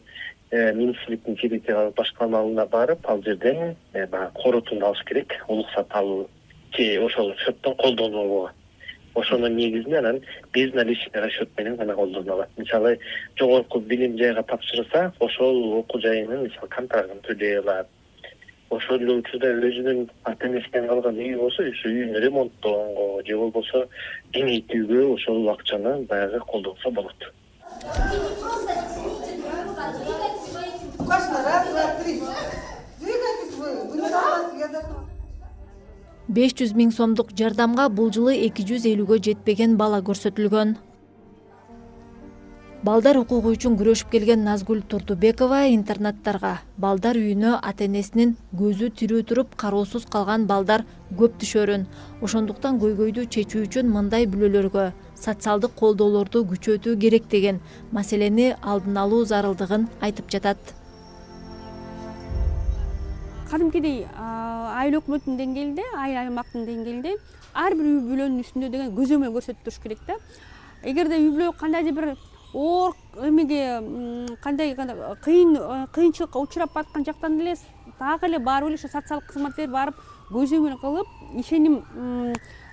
министрликтин территориялык башкармалыгына барып ал жерден баягы корутунду алыш керек, уруксат алуу же ошол счеттон колдонууга. Ошонун негизинде анан безналичный расчет менен гана колдонула алат. Мисалы, жогорку билим жайга тапшырса, ошол окуу жайынын мисалы контрактын төлөй алат. Ошол эле учурда өзүнүн ата энесинен калган үй болсо, ошо үйүн ремонттоого же болбосо кеңейтүүгө ошол акчаны баягы колдонсо болот. беш жүз миң сомдук жардамга бул жылы эки жүз элүүгө жетпеген бала көрсөтүлгөн. Балдар укугу үчүн күрөшүп келген Назгүл Турдубекова интернаттарга, балдар үйүнө ата энесинин көзү тирүү туруп кароосуз калган балдар көп түшөрүн. Ошондуктан көйгөйдү чечүү үчүн мындай бүлөлөргө социалдык колдоолорду күчөтүү керек деген маселени алдын алуу зарылдыгын айтып жатат. Кадимкидей айыл өкмөтүнүн деңгээлинде, айыл аймактын деңгээлинде ар бир үй бүлөнүн үстүндө деген көзөмөл көрсөтүп туруш керек да. Эгерде үй бүлө кандайдыр бир оор эмеге кандай кыйын кыйынчылыкка учурап аткан жактан эле дагы эле барып эле ошо социалдык кызматкер барып көзөмөл кылып, ишеним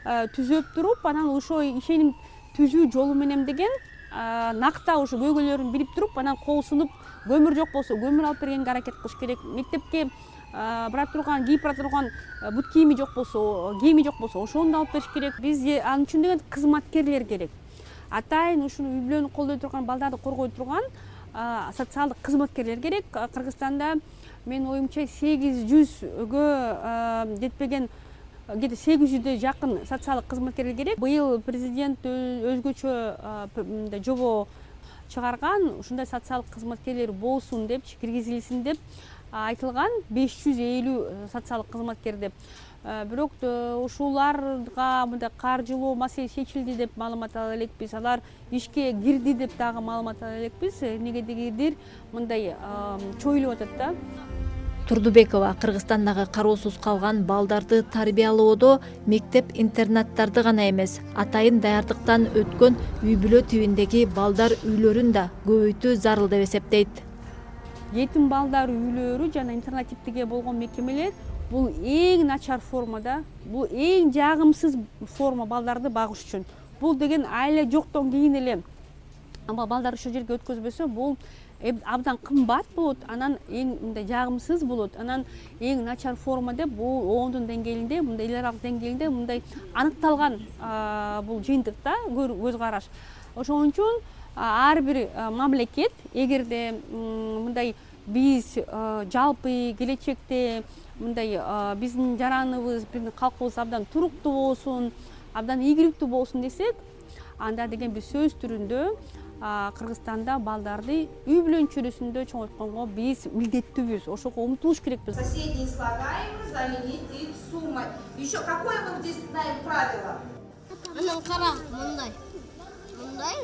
түзөп туруп, анан ошо ишеним түзүү жолу менен деген накта ошо көйгөйлөрүн билип туруп, анан кол сунуп, көмүр жок болсо көмүр алып бергенге аракет кылыш керек. Мектепке бара турган, кийип бара турган бут кийими жок болсо, кийими жок болсо, ошону алып бериш керек. Бизге анын үчүн деген кызматкерлер керек. Атайын ушуну үй бүлөнү колдой турган, балдарды коргой турган социалдык кызматкерлер керек. Кыргызстанда менин оюмча сегиз жүзгө жетпеген, где-то сегиз жүзгө жакын социалдык кызматкерлер керек. Быйыл президент өзгөчө жобо чыгарган, ушундай социалдык кызматкерлер болсун деп, киргизилсин деп айтылган, беш жүз элүү социалдык кызматкер деп. Бирок ушуларга мындай каржылоо маселеси чечилди деп маалымат ала элекпиз. Алар ишке кирди деп дагы маалымат ала элекпиз. Эмнегедир мындай чоюлуп атат да. Турдубекова Кыргызстандагы кароосуз калган балдарды тарбиялоодо мектеп-интернаттарды гана эмес, атайын даярдыктан өткөн үй бүлө тибиндеги балдар үйлөрүн да көбөйтүү зарыл деп эсептейт. Жетим балдар үйлөрү жана интернат типтеги болгон мекемелер бул эң начар формада, бул эң жагымсыз форма балдарды багыш үчүн. Бул деген айла жоктон кийин эле балдар ошол жерге өткөзбөсө, бул абдан кымбат болот, анан эң мындай жагымсыз болот. Анан эң начар форма деп бул оондун деңгээлинде, мындай эл аралык деңгээлинде мындай аныкталган бул жыйынтык да, көз караш. Ошон үчүн ар бир мамлекет эгерде мындай биз жалпы келечекте мындай биздин жараныбыз, биздин калкыбыз абдан туруктуу болсун, абдан ийгиликтүү болсун десек, анда деген биз сөз түрүндө Кыргызстанда балдарды үй бүлөнүн чөйрөсүндө чоңойтконго биз милдеттүүбүз, ошого умтулуш керекпиз. Соседние слагаемые заменить их суммой. Еще какое мы здесь знаем правило? Анан кара, мындай. Мындай.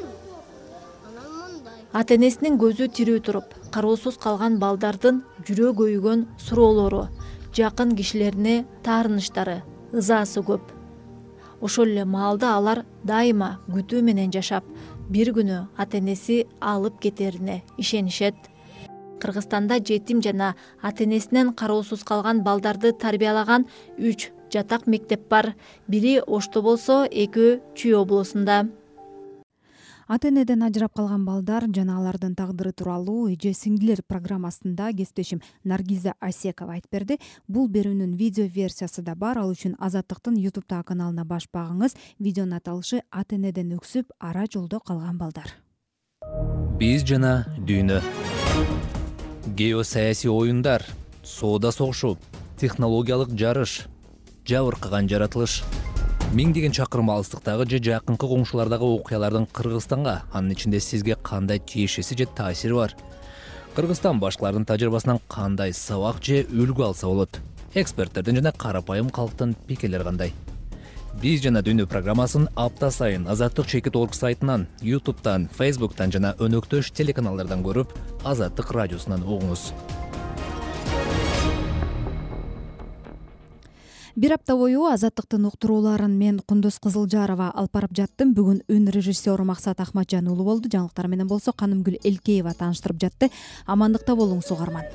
Анан мындай. Ата энесинин көзү тирүү туруп, кароосуз калган балдардын жүрө көйгөн суроолору, жакын кишилерине таарыныштары, ызаасы көп. Ошол эле маалда алар дайыма күтүү менен жашап, бир күнү ата энеси алып кетерине ишенишет. Кыргызстанда жетим жана ата энесинен кароосуз калган балдарды тарбиялаган үч жатак мектеп бар. Бири Ошто болсо, экөө Чүй облусунда. Ата энеден ажырап калган балдар жана алардын тагдыры тууралуу эже сиңдилер программасында кесиптешим Наргиза Асекова айтып берди. Бул берүүнүн видео версиясы да бар. Ал үчүн Азаттыктын YouTube каналына баш багыңыз. Видеонун аталышы ата энеден өксүп ара жолдо калган балдар. Биз жана дүйнө. Геосаясий оюндар, соода согушу, технологиялык жарыш, жабыркаган жаратылыш. Миңдеген чакырым алыстыктагы же жакынкы коңшулардагы окуялардын Кыргызстанга, анын ичинде сизге кандай тиешеси же таасири бар? Кыргызстан башкалардын тажрыйбасынан кандай сабак же үлгү алса болот? Эксперттердин жана карапайым калктын пикирлери кандай? Биз жана дүйнө программасын апта сайын Азаттык чекит точка орг сайтынан, YouTube'дан, Facebook'тан жана өнөктөш телеканалдардан көрүп, Азаттык радиосунан угуңуз. бир апта бою Азаттыктын уктурууларын мен Кундуз Кызылжарова алып барып жаттым. Бүгүн үн режиссеру Максат Ахматжан уулу болду. Жаңылыктар менен болсо Канымгүл Элкеева тааныштырып жатты. Амандыкта болуңуз угарман.